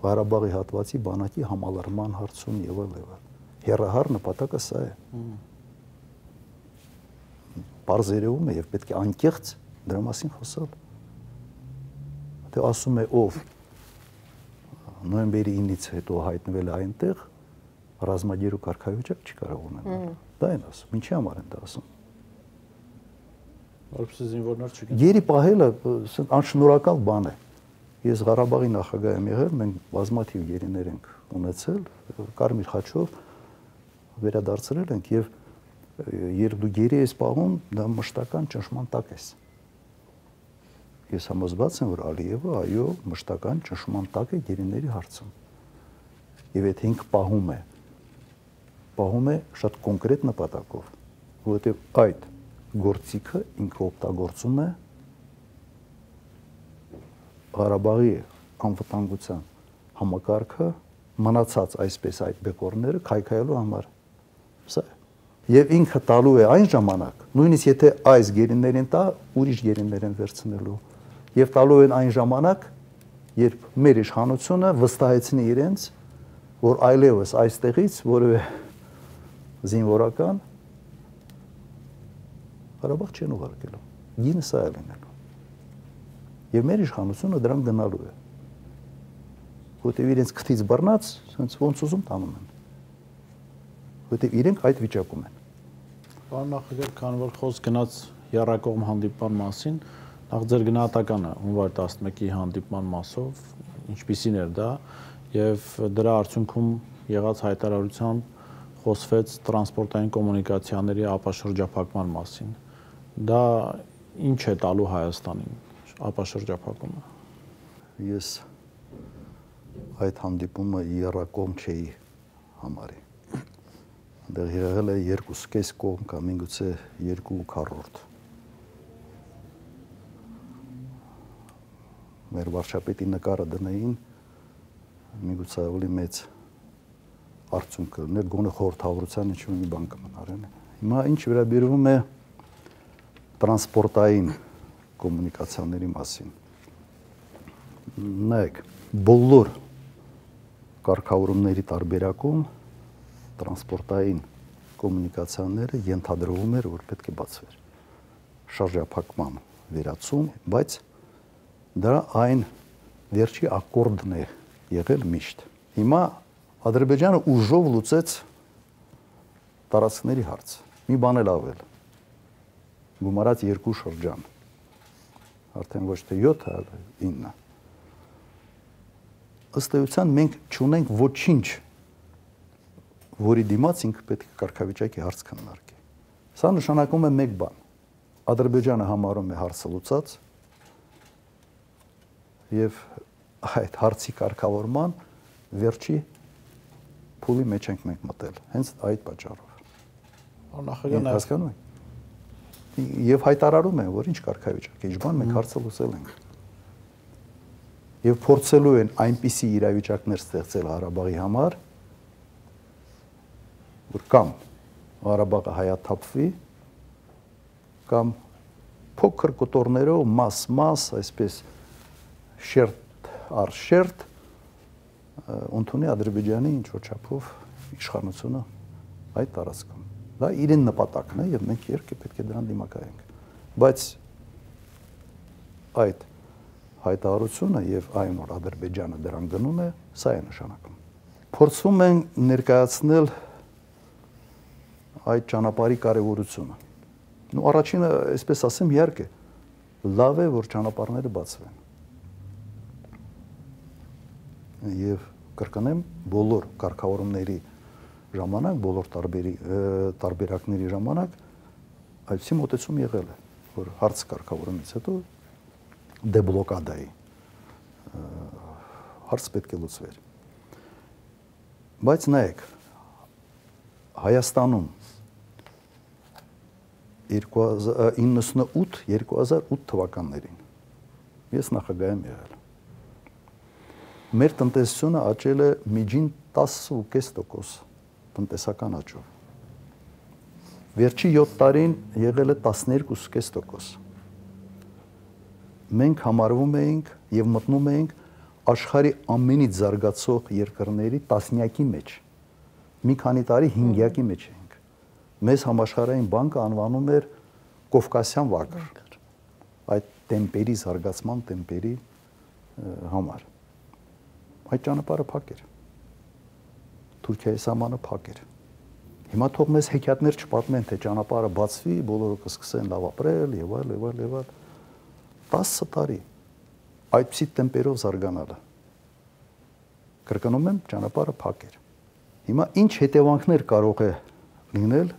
Ղարաբաղի հատվածի բանակի համալրման հարցում եւ այլն։ Հեռահար նպատակը սա է։ Պարզերևում է եւ պետք է անկեղծ դրա մասին խոսալ։ Դե ասում է ով նոյեմբերի 9-ից հետո հայտնվել է այնտեղ, ռազմագերու կարգավիճակ չի կարող ունենալ։ Դա են ասում, ինչի համար են դա ասում։ Որպես զինվորներ չգիտեմ։ Գերի պահելը անշնորհակալ բան է։ Ես Ղարաբաղի նախագահ եմ եղել, մենք բազմաթիվ գերիներ ենք ունեցել, Կարմիր խաչով վերադարձրել ենք եւ երբ դու գերի ես պահում, դա մշտական ճնշման տակ ես։ ես համոզված եմ, որ Ալիևը այո մշտական ճնշման տակ է գերիների հարցում։ Եվ այդ ինքը պահում է շատ կոնկրետ նպատակով, որովհետև այդ գործիքը ինքը օգտագործում է Ղարաբաղի անվտանգության համակարգը մնացած այսպես այդ բեկորները քայքայելու համար։ Սա եւ ինքը տալու է այն ժամանակ, նույնիսկ եթե այս գերիներին տա, ուրիշ գերիներ են վերցնելու եւ տալու են այն ժամանակ, երբ մեր իշխանությունը վստահեցնի իրենց, որ այլևս այստեղից որևէ զինվորական Ղարաբաղ չեն ուղարկելու։ Գինը սա է լինելու։ Եվ մեր իշխանությունը դրան գնալու է։ Որտեւ իրենց քթից բռնած, ոնց ուզում տանում են։ Որտեւ իրենք այդ վիճակում են։ Պարոն նախագահ, քանի որ խոսք գնաց եռակողմ հանդիպման մասին, նախ ձեր գնահատականը հունվար 11-ի հանդիպման մասով ինչպիսին էր դա եւ դրա արդյունքում եղած հայտարարությամբ խոսվեց տրանսպորտային կոմունիկացիաների ապաշրջափակման մասին։ Դա ինչ է տալու Հայաստանին ապաշրջափակումը։ Ես այդ հանդիպումը եռակողմ չէի համարի։ Այնտեղ եղել է 2.5 կողմ կամ միգուցե 2/4։ Մեր վարչապետի նկարը դնեին, միգուցե ավելի մեծ արդյունք կլիներ, գոնե խորհրդավորության ինչ-որ մի բան կմնար։ Հիմա ինչ վերաբերվում է տրանսպորտային կոմունիկացիաների մասին։ Նայեք, բոլոր կարգավորումների տարբերակում տրանսպորտային կոմունիկացիաները ենթադրվում էր, որ պետք է բացվեր։ Շարժափակման վերացում, բայց դա այն վերջի ակորդն է եղել միշտ։ Հիմա Ադրբեջանը ուժով լուծեց տարածքների հարցը։ Մի բան էլ ավել։ Գումարած 2 շրջան։ Արդեն ոչ թե 7, այլ 9։ Ըստ էության մենք չունենք ոչինչ, որի դիմաց ինքը պետք է կարգավիճակի հարց քննարկի։ Սա նշանակում է մեկ բան. Ադրբեջանը համարում է հարցը լուծած եւ այդ հարցի կարգավորման վերջի փուլի մեջ ենք մենք մտել, հենց այդ պատճառով։ Նախագահ հասկանում եք։ Եվ հայտարարում են, որ ինչ կարգավիճակ է, ինչ բան մենք հարցը լուծել ենք։ Եվ փորձելու են այնպիսի իրավիճակներ ստեղծել Ղարաբաղի համար, որ կամ Ղարաբաղը հայաթափվի, կամ փոքր կտորներով մաս, այսպես շերտ առ շերտ ընդունի Ադրբեջանի ինչ-որ չափով իշխանությունը այդ տարածքում։ Դա իրեն նպատակն է եւ մենք երկը պետք է դրան դիմակայենք։ Բայց այդ հայտարարությունը եւ այն որ Ադրբեջանը դրան գնում է, սա է նշանակում։ Փորձում են ներկայացնել այդ ճանապարհի կարևորությունը։ Ու առաջինը, այսպես ասեմ, իհարկե, լավ է, որ ճանապարհները բացվեն։ Եվ կրկնեմ, բոլոր կարգավորումների ժամանակ, բոլոր տարբերակների ժամանակ այդպիսի մոտեցում եղել է, որ հարց կարգավորումից հետո դեբլոկադայի հարց պետք է լուծվեր։ Բայց նայեք, Հայաստանում 2008 թվականներին ես նախագահ եմ եղել։ Մեր տնտեսությունը աճել է միջին 10.5% տնտեսական աճով։ Վերջի 7 տարին եղել է 12.5%։ Մենք համարվում էինք եւ մտնում էինք աշխարհի ամենից զարգացող երկրների տասնյակի մեջ։ Մի քանի տարի 5-յակի մեջ էինք։ Մեզ համաշխարհային բանկը անվանում էր Կովկասյան վագր։ Այդ տեմպերի զարգացման տեմպերի համար։ Այդ ճանապարհը փակ էր։ Թուրքիայի սահմանը փակ էր։ Հիմա թող մեզ հեքիաթներ չպատմեն, թե ճանապարհը բացվի, բոլորը կսկսեն լավ ապրել եւ այլ։ 10 տարի այդպիսի տեմպերով զարգանալը։ Կրկնում եմ, ճանապարհը փակ էր։ Հիմա ինչ հետևանքներ կարող է լինել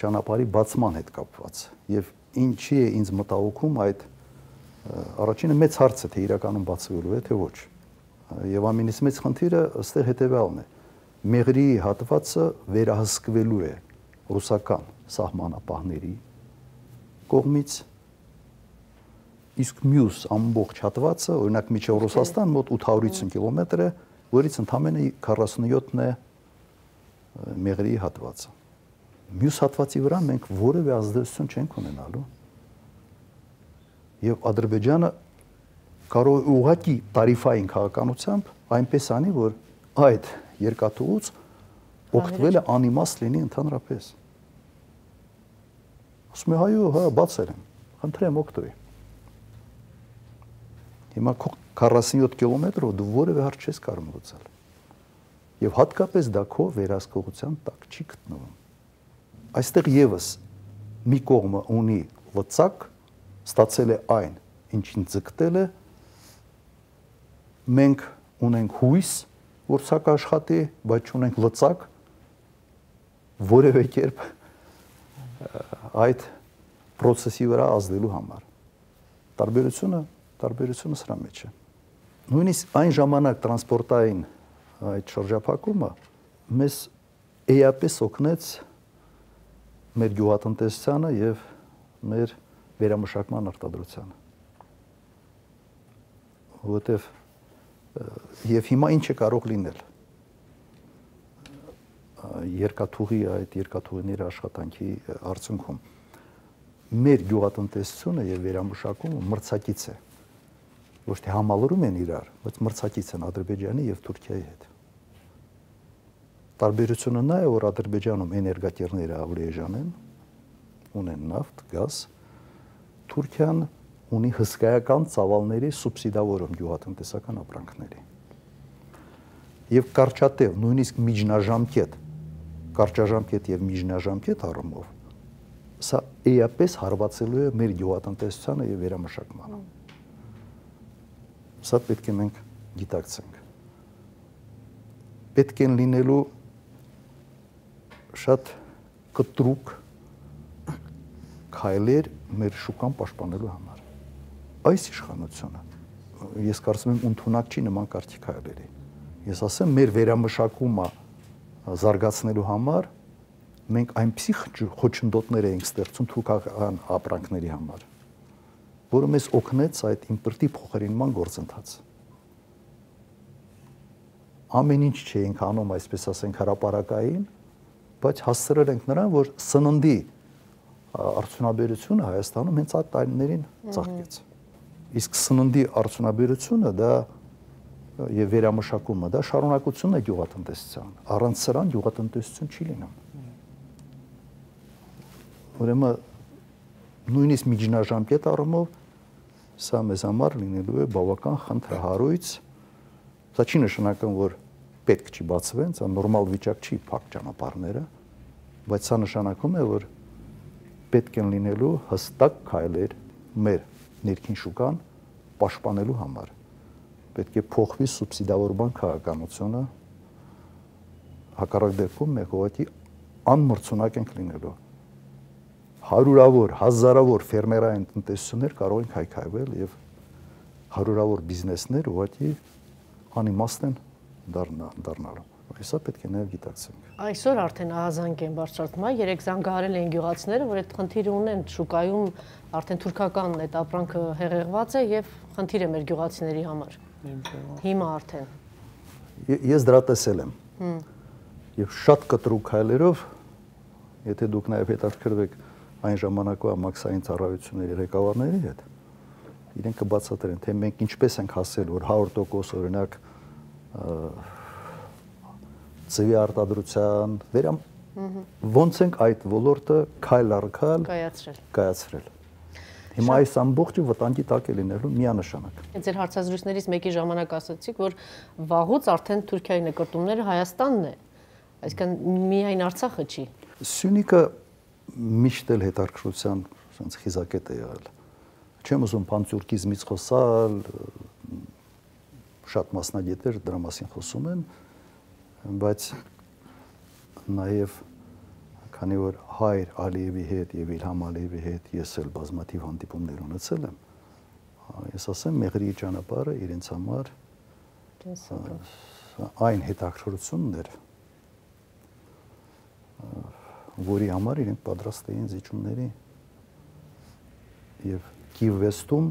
ճանապարհի բացման հետ կապված եւ ինչի է ինձ մտահոգում այդ Առաջինը մեծ հարց է, թե իրականում բացվելու է, թե ոչ։ Եվ ամենից մեծ խնդիրը ըստեղ հետևյալն է. Մեղրի հատվածը վերահսկվելու է ռուսական սահմանապահների կողմից, իսկ մյուս ամբողջ հատվածը, օրինակ միջև Ռուսաստան մոտ 850 կիլոմետր է, որից ընդամենը 47-ն է մեղրի հատվածը։ Մյուս հատվածի վրա մենք որևէ ազդեցություն չենք ունենալու։ Եվ Ադրբեջանը կարող է ուղղակի տարիֆային քաղաքականությամբ այնպես անի, որ այդ երկաթուղուց օգտվելը անիմաստ լինի ընդհանրապես։ Ասում է հայո, հա, բացել եմ, խնդրեմ օգտվի։ Հիմա 47 կիլոմետրով դու որևէ հարց չես կարող լուծել։ Եվ հատկապես դա քո վերահսկողության տակ չի գտնվում։ Այստեղ եւս մի կողմը ունի լծակ, ստացել է այն, ինչին ձգտել է, մենք ունենք հույս, որ սա կաշխատի, բայց չունենք լծակ, որևէ կերպ այդ process-ի վրա ազդելու համար։ Տարբերությունը սրա մեջ է։ Նույնիսկ այն ժամանակ տրանսպորտային այդ շրջափակումը մեզ էապես օգնեց մեր գյուղատնտեսությանը եւ մեր վերամշակման արտադրությանը։ Որտեւ եւ հիմա ինչ է կարող լինել երկաթուղիների աշխատանքի արդյունքում մեր գյուղատնտեսությունը եւ վերամշակումը մրցակից է, ոչ թե համալրում են իրար, բայց մրցակից են Ադրբեջանի եւ Թուրքիայի հետ։ Տարբերությունը նա է, որ Ադրբեջանում էներգակիրները ավելի էժան են, ունեն նավթ, գազ, Թուրքիան ունի հսկայական ծավալների սուբսիդավորում գյուղատնտեսական ապրանքների։ Եվ կարճատև, նույնիսկ կարճաժամկետ եւ միջնաժամկետ առումով սա էապես հարվածելու է մեր գյուղատնտեսությանը եւ վերամշակմանը։ Սա պետք է մենք գիտակցենք։ Պետք են լինելու շատ կտրուկ քայլեր մեր շուկան պաշտպանելու համար։ Այս իշխանությունը, ես կարծում եմ, ընդունակ չի նման կարգի քայլերի։ Ես ասեմ, մեր վերամշակումը զարգացնելու համար մենք այնպիսի խոչընդոտներ էինք ստեղծում թուրքական ապրանքների համար, որը մեզ օգնեց այդ իմպորտի փոխարինման գործընթացը։ Ամեն ինչ չէինք անում, այսպես ասենք, հրապարակային, բայց հասցրել ենք նրան, որ սննդի արդյունաբերությունը Հայաստանում հենց այդ տարիներին ծաղկեց։ Իսկ սննդի արդյունաբերությունը դա եւ վերամշակումը դա շարունակությունն է գյուղատնտեսության։ Առանց սրան գյուղատնտեսություն չի լինում։ Ուրեմն նույնիսկ միջնաժամկետ առումով սա մեզ համար լինելու է բավական խնդրահարույց։ Սա չի նշանակում, որ պետք չի բացվեն, սա նորմալ վիճակ չի փակ ճանապարհները, բայց սա նշանակում է, որ պետք են լինելու հստակ քայլեր մեր ներքին շուկան պաշտպանելու համար։ Պետք է փոխվի սուբսիդավորման քաղաքականությունը, հակառակ դեպքում մենք ուղղակի անմրցունակ ենք լինելու։ Հարյուրավոր, հազարավոր ֆերմերային տնտեսություններ կարող են քայքայվել եւ հարյուրավոր բիզնեսներ ուղղակի անիմաստ են դառնալու։ Հեսա պետք է նաև գիտակցենք։ Այսօր արդեն ահազանգ են բարձրացնում, երեք զանգահարել են գյուղացիները, որ այդ խնդիրը ունեն շուկայում, արդեն թուրքական այդ ապրանքը հեղեղված է եւ խնդիր է մեր գյուղացիների համար։ Հիմա արդեն։ Ես դրա տեսել եմ։ Եվ շատ կտրուկ քայլերով, եթե դուք նաև հետաքրքրվեք այն ժամանակվա մաքսային ծառայությունների ղեկավարների հետ, իրենք կբացատրեն, թե մենք ինչպես ենք հասել, որ 100% օրինակ ծվի արտադրության ոնց ենք այդ ոլորտը քայլ առ քայլ կայացրել։ Հիմա այս ամբողջը վտանգի տակ է լինելու միանշանակ։ Ձեր հարցազրույցներից մեկի ժամանակ ասացիք, որ վաղուց արդեն Թուրքիայի նկարտումները Հայաստանն է, այսինքն միայն Արցախը չի։ Սյունիքը միշտ էլ հետաքրքրության sense խիզակետ է եղել։ Չեմ ուզում պանտյուրկիզմից խոսալ, շատ մասնագետներ դրա մասին խոսում են, բայց նաև քանի որ Հայր Ալիևի հետ եւ Իլհամ Ալիևի հետ ես էլ բազմաթիվ հանդիպումներ ունեցել եմ, ես ասեմ, մեղրի ճանապարհը իրենց համար այն հետաքրքրությունն էր, որի համար իրենք պատրաստ էին զիջումների եւ Կիևստում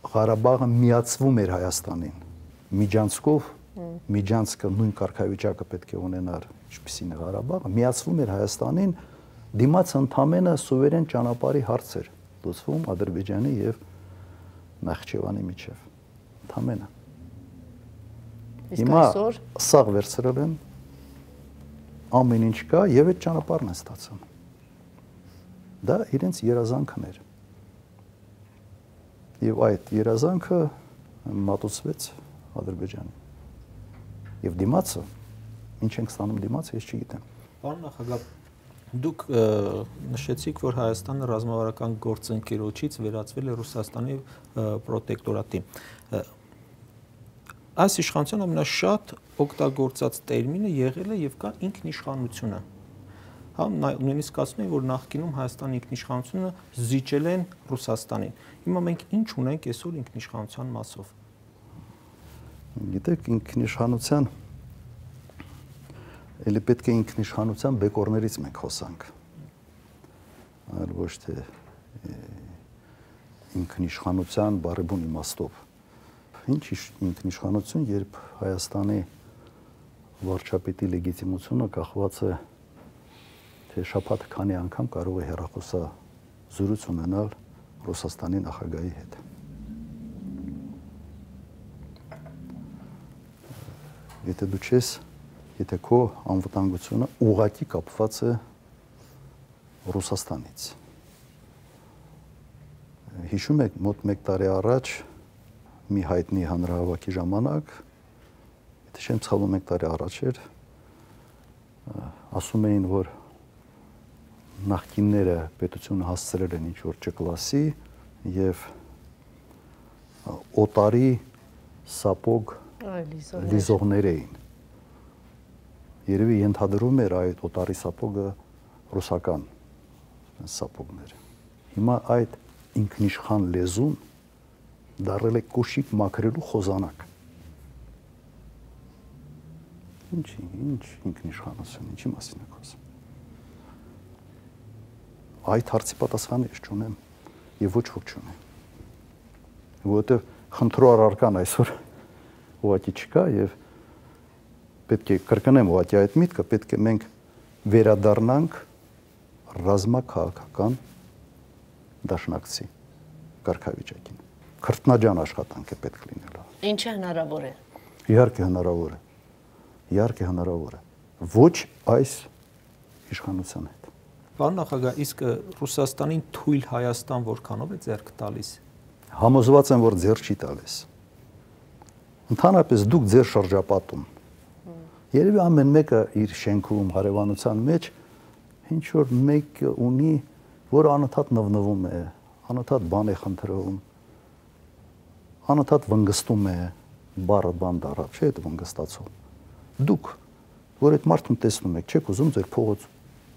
Ղարաբաղը միացվում էր Հայաստանին միջանցքով, միջանցքը նույն կարգավիճակը պետք է ունենար, ինչպիսին է Ղարաբաղը, միացվում էր Հայաստանին, դիմաց ընդամենը սուվերեն ճանապարհի հարց էր լուծվում Ադրբեջանի եւ Նախճեվանի միջև, ընդամենը։ Հիմա սաղ վերցրել են, ամեն ինչ կա եւ այդ ճանապարհն է ստացան։ Դա իրենց երազանքն էր։ Եվ այդ երազանքը մատուցվեց Ադրբեջանին։ Եվ դիմացը, ինչ ենք ստանում դիմացը, ես չգիտեմ։ Պարոն նախագահ, դուք նշեցիք, որ Հայաստանը ռազմավարական գործընկերոջից վերածվել է Ռուսաստանի պրոտեկտորատի։ Այս իշխանության ամենաշատ օգտագործած տերմինը եղել է եւ կա ինքնիշխանությունը։ Հա, նույնիսկ ասում են, որ նախկինում Հայաստանի ինքնիշխանությունը զիջել են Ռուսաստանին։ Հիմա մենք ինչ ունենք այսօր ինքնիշխանության մասով։ Գիտեք, ինքնիշխանության էլի պետք է ինքնիշխանության բեկորներից մենք խոսանք։ Այլ ոչ թե ինքնիշխանության բարեբուն իմաստով։ Ինչ ինքնիշխանություն, երբ Հայաստանի վարչապետի լեգիտիմությունը կախված է թե շաբաթը քանի անգամ կարող է հեռախոսազրույց ունենալ Ռուսաստանի նախագահի հետ։ Եթե դու չես, եթե քո անվտանգությունը ուղղակի կապված է Ռուսաստանից։ Հիշում եք, մոտ 1 տարի առաջ մի հայտնի հանրահավաքի ժամանակ, եթե չեմ սխալվում 1 տարի առաջ էր, ասում էին, որ նախկինները պետությունը հասցրել են ինչ-որ ճկլասի եւ օտարի սապոգ լիզողներ էին։ Երևի ենթադրում էր այդ օտարի սապոգը ռուսական սապոգներ։ Հիմա այդ ինքնիշխան լեզուն դարել է կոշիկ մաքրելու խոզանակ։ Ինչ ինքնիշխանություն, ինչի մասին եք խոսում։ Այդ հարցի պատասխանը ես չունեմ եւ ոչ ոք չունի։ Որովհետեւ խնդրու առարկան այսօր ուղղակի չկա եւ պետք է կրկնեմ ուղղակի այդ միտքը, պետք է մենք վերադառնանք ռազմաքաղաքական դաշնակցի կարգավիճակին։ Քրտնաջան աշխատանք է պետք լինել։ Ինչը հնարավոր է։ Իհարկե հնարավոր է։ Իհարկե հնարավոր է։ Ոչ այս իշխանության հետ։ Պարոն նախագահ, իսկ Ռուսաստանին թույլ Հայաստան որքանով է ձեռք տալիս։ Համոզված եմ, որ ձեռք չի տալիս։ Ընդհանրապես դուք ձեր շրջապատում երևի ամեն մեկը իր շենքում հարևանության մեջ ինչ որ մեկ ունի, որ անընդհատ նվնվում է, անընդհատ բան է խնդրում, անընդհատ վնգստում է, բառը բան դառավ, չէ՞ այդ վնգստացում։ Դուք, որ այդ մարդուն տեսնում եք, չեք ուզում ձեր փողոց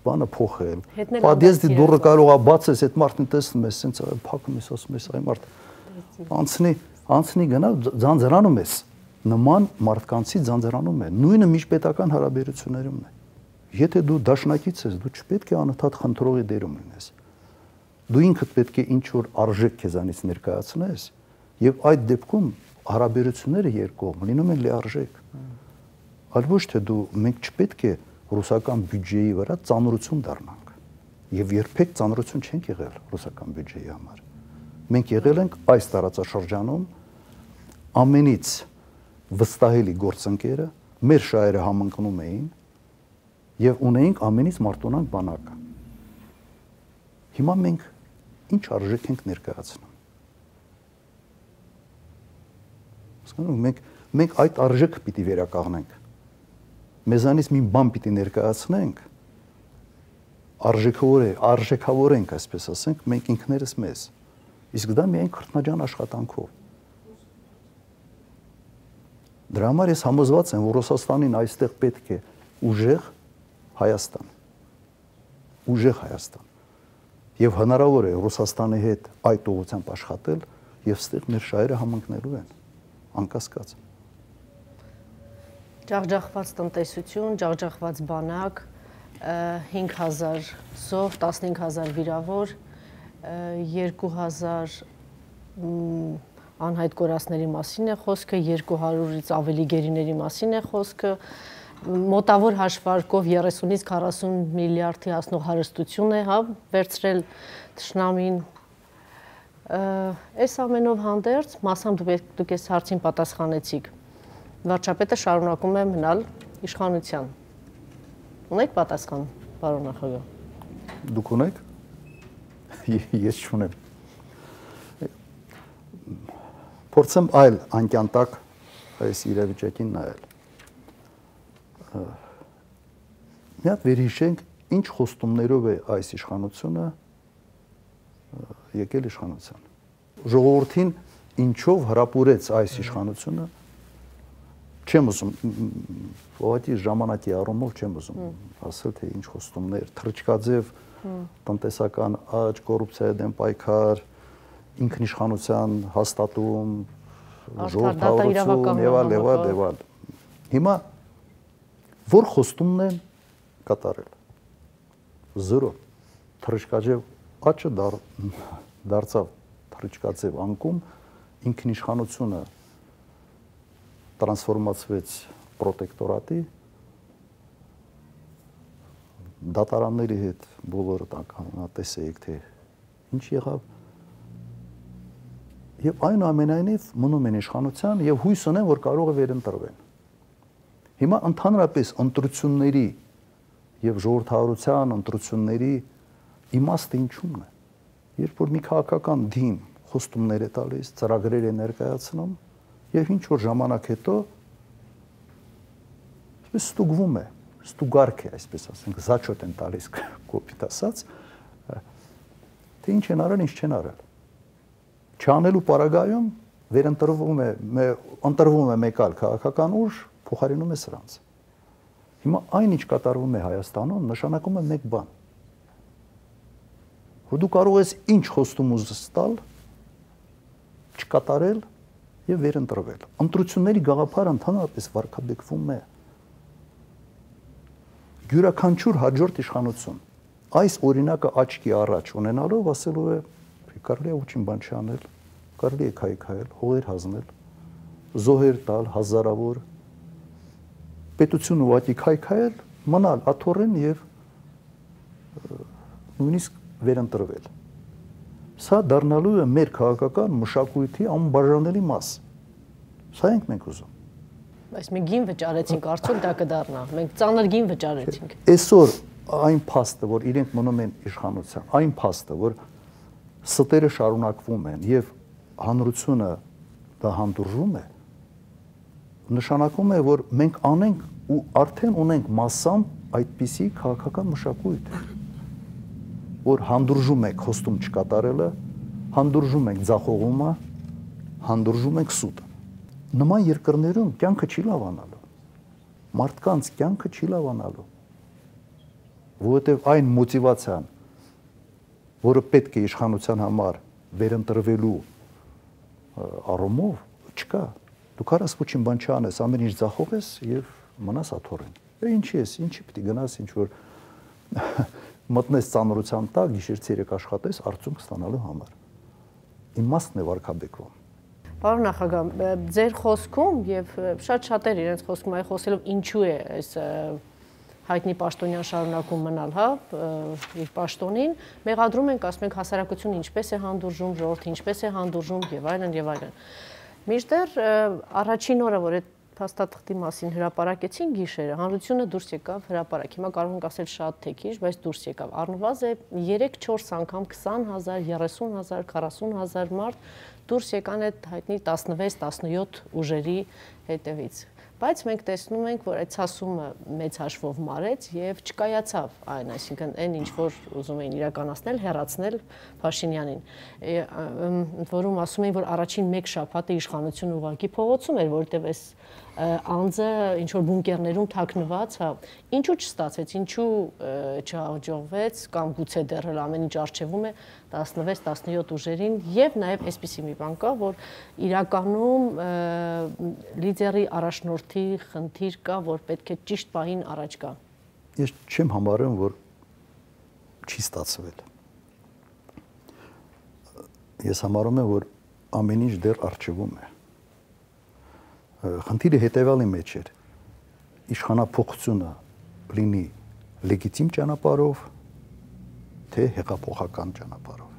բանը փոխել։ Պատիեզդի դուռը կարող է բացես, այդ մարդուն տեսնում ես, սենց փակում ես, ասում ես, այ մարդ անցնի գնա ձանձրանում ես։ Նման մարդկանցի ձանձրանում է։ Նույնը միջպետական հարաբերություններում է։ Եթե դու դաշնակից ես, դու չպետք է անընդհատ խնդրողի դերում լինես։ Դու ինքդ պետք է ինչ որ արժեք քեզանից ներկայացնես, եւ այդ դեպքում հարաբերությունները երկկողմ լինում են լիարժեք։ Այլ ոչ թե դու մենք չպետք է ռուսական բյուջեի վրա ծանրություն դառնանք։ Եվ երբեք ծանրություն չենք եղել ռուսական բյուջեի համար։ Մենք եղել ենք այս տարածաշրջանում ամենից վստահելի գործընկերը, մեր շահերը համընկնում էին եւ ունեինք ամենից մարտոնանք բանակը։ Հիմա մենք ինչ արժեք ենք ներկայացնում։ Հասկանու՞մ, մենք այդ արժեքը պիտի վերականգնենք։ Մեզանից մի բան պիտի ներկայացնենք, արժեքավորենք, այսպես ասենք, մենք ինքներս մեզ։ Իսկ դա միայն քրտնաջան աշխատանքով։ Դրա համար ես համոզված եմ, որ Ռուսաստանին այստեղ պետք է ուժեղ Հայաստան։ Ուժեղ Հայաստան։ Եվ հնարավոր է Ռուսաստանի հետ այդ ուղղությամբ աշխատել եւ ստեղ մեր շահերը համընկնելու են, անկասկած։ Ջախջախված տնտեսություն, ջախջախված բանակ, 5000 զոհ, 15000 վիրավոր, 2000 անհայտ կորածների մասին է խոսքը, 200-ից ավելի գերիների մասին է խոսքը, մոտավոր հաշվարկով 30-ից 40 միլիարդի հասնող հարստություն է, հա, վերցրել թշնամին։ Այս ամենով հանդերձ, մասամբ դուք այս հարցին պատասխանեցիք, վարչապետը շարունակում է մնալ իշխանության։ Ունեք պատասխան, պարոն նախագահ։ Դուք ունեք։ Ես չունեմ։ Փորձեմ այլ անկյան տակ այս իրավիճակին նայել։ Մի հատ վերհիշենք, ինչ խոստումներով է այս իշխանությունը եկել իշխանության։ Ժողովրդին ինչով հրապուրեց այս իշխանությունը, չեմ ուզում, ուղղակի ժամանակի առումով չեմ ուզում ասել, թե ինչ խոստումներ, թռչկաձև տնտեսական աճ, կոռուպցիայի դեմ պայքար, ինքնիշխանության հաստատում, ժողովրդավարություն եւ այլ։ Հիմա որ խոստումն են կատարել։ 0 թռչկաձև աճը դարձավ թռչկաձև անկում, ինքնիշխանությունը տրանսֆորմացվեց պրոտեկտորատի, դատարանների հետ բոլորը տեսեիք, թե ինչ եղավ։ Եվ այնուամենայնիվ մնում են իշխանության եւ հույս ունեն, որ կարող է վերընտրվեն։ Հիմա ընդհանրապես ընտրությունների եւ ժողովրդավարության ընտրությունների իմաստը ինչու՞մն է։ Երբ որ մի քաղաքական դին խոստումներ է տալիս, ծրագրեր է ներկայացնում եւ ինչ որ ժամանակ հետո ստուգվում է, ստուգարք է, այսպես ասենք, զաչոտ են տալիս կոպիտ ասած, թե ինչ են արել, ինչ չեն արել։ Չանելու պարագայում վերընտրվում է մեկ այլ քաղաքական ուժ, փոխարինում է սրանց։ Հիմա այն ինչ կատարվում է Հայաստանում, նշանակում է մեկ բան։ Որ դու կարող ես ինչ խոստում ուզես տալ, չկատարել եւ վերընտրվել։ Ընտրությունների գաղափարը ընդհանրապես վարկաբեկվում է։ Յուրաքանչյուր հաջորդ իշխանություն այս օրինակը աչքի առաջ ունենալով ասելու է կարելի է ոչինչ բան չանել, կարելի է քայքայել, հողեր հանձնել, զոհեր տալ հազարավոր, պետությունը ուղղակի քայքայել, մնալ աթոռեն եւ նույնիսկ վերընտրվել։ Սա դառնալու է մեր քաղաքական մշակույթի անբաժանելի մաս։ Սա ենք մենք ուզում։ Բայց մենք գին վճարեցինք, արդյոք դա կդառնա։ Մենք ծանր գին վճարեցինք։ Այսօր այն փաստը, որ իրենք մնում են իշխանության, այն փաստը, որ ստերը շարունակվում են եւ հանրությունը դա հանդուրժում է, նշանակում է, որ մենք անենք ու արդեն ունենք massամբ այդպիսի քաղաքական մշակույթ, որ հանդուրժում ենք խոստում չկատարելը, հանդուրժում ենք ձախողումը, հանդուրժում ենք սուտը։ Նման երկրներում կյանքը չի լավանալու։ Մարդկանց կյանքը չի լավանալու։ Որովհետև այն մոտիվացիան, որը պետք է իշխանության համար վերընտրվելու առումով չկա։ Դու կարաս ոչինչ բան չանես, ամեն ինչ ձախողես եւ մնաս աթոռին։ Ինչի ես, ինչի պիտի գնաս, ինչ որ մտնես ծանրության տակ, գիշեր-ցերեկ աշխատես արդյունք ստանալու համար։ Իմաստն է վարկաբեկվում։ Պարոն նախագահ, ձեր խոսքում եւ շատ շատեր իրենց խոսքում այ խոսելով ինչու է այս հայտնի պաշտոնյան շարունակում մնալ, հա, իր պաշտոնին, մեղադրում ենք, ասում ենք հասարակությունը ինչպես է հանդուրժում, ժողովուրդը ինչպես է հանդուրժում եւ այլն եւ այլն։ Մինչդեռ առաջին օրը, որ այդ փաստաթղթի մասին հրապարակեցին գիշերը, հանրությունը դուրս եկավ հրապարակ։ Հիմա կարող ենք ասել շատ թե քիչ, բայց դուրս եկավ։ Առնվազն 3-4 անգամ 20,000, 30,000, 40,000 մարդ դուրս եկան այդ հայտնի 16-17 ուժերի հետևից։ Բայց մենք տեսնում ենք, որ այդ ցասումը մեծ հաշվով մարեց եւ չկայացավ այն, այսինքն այն ինչ որ ուզում էին իրականացնել, հեռացնել Փաշինյանին, որում ասում էին, որ առաջին 1 շաբաթը իշխանությունը ուղղակի փողոցում էր, որովհետեւ այս անձը ինչ որ բունկերներում թաքնված, հա, ինչու չստացվեց, ինչու չհաջողվեց կամ գուցե դեռ ամեն ինչ արժևում է 16-17 ուժերին եւ նաեւ այսպիսի մի բան կա, որ իրականում լիդերի առաջնորդի խնդիր կա, որ պետք է ճիշտ պահին առաջ գա։ Ես չեմ համարում, որ չի ստացվել։ Ես համարում եմ, որ ամեն ինչ դեռ արժևում է։ Խնդիրը հետևյալի մեջ էր. իշխանափոխությունը լինի լեգիտիմ ճանապարհով, թե հեղափոխական ճանապարհով։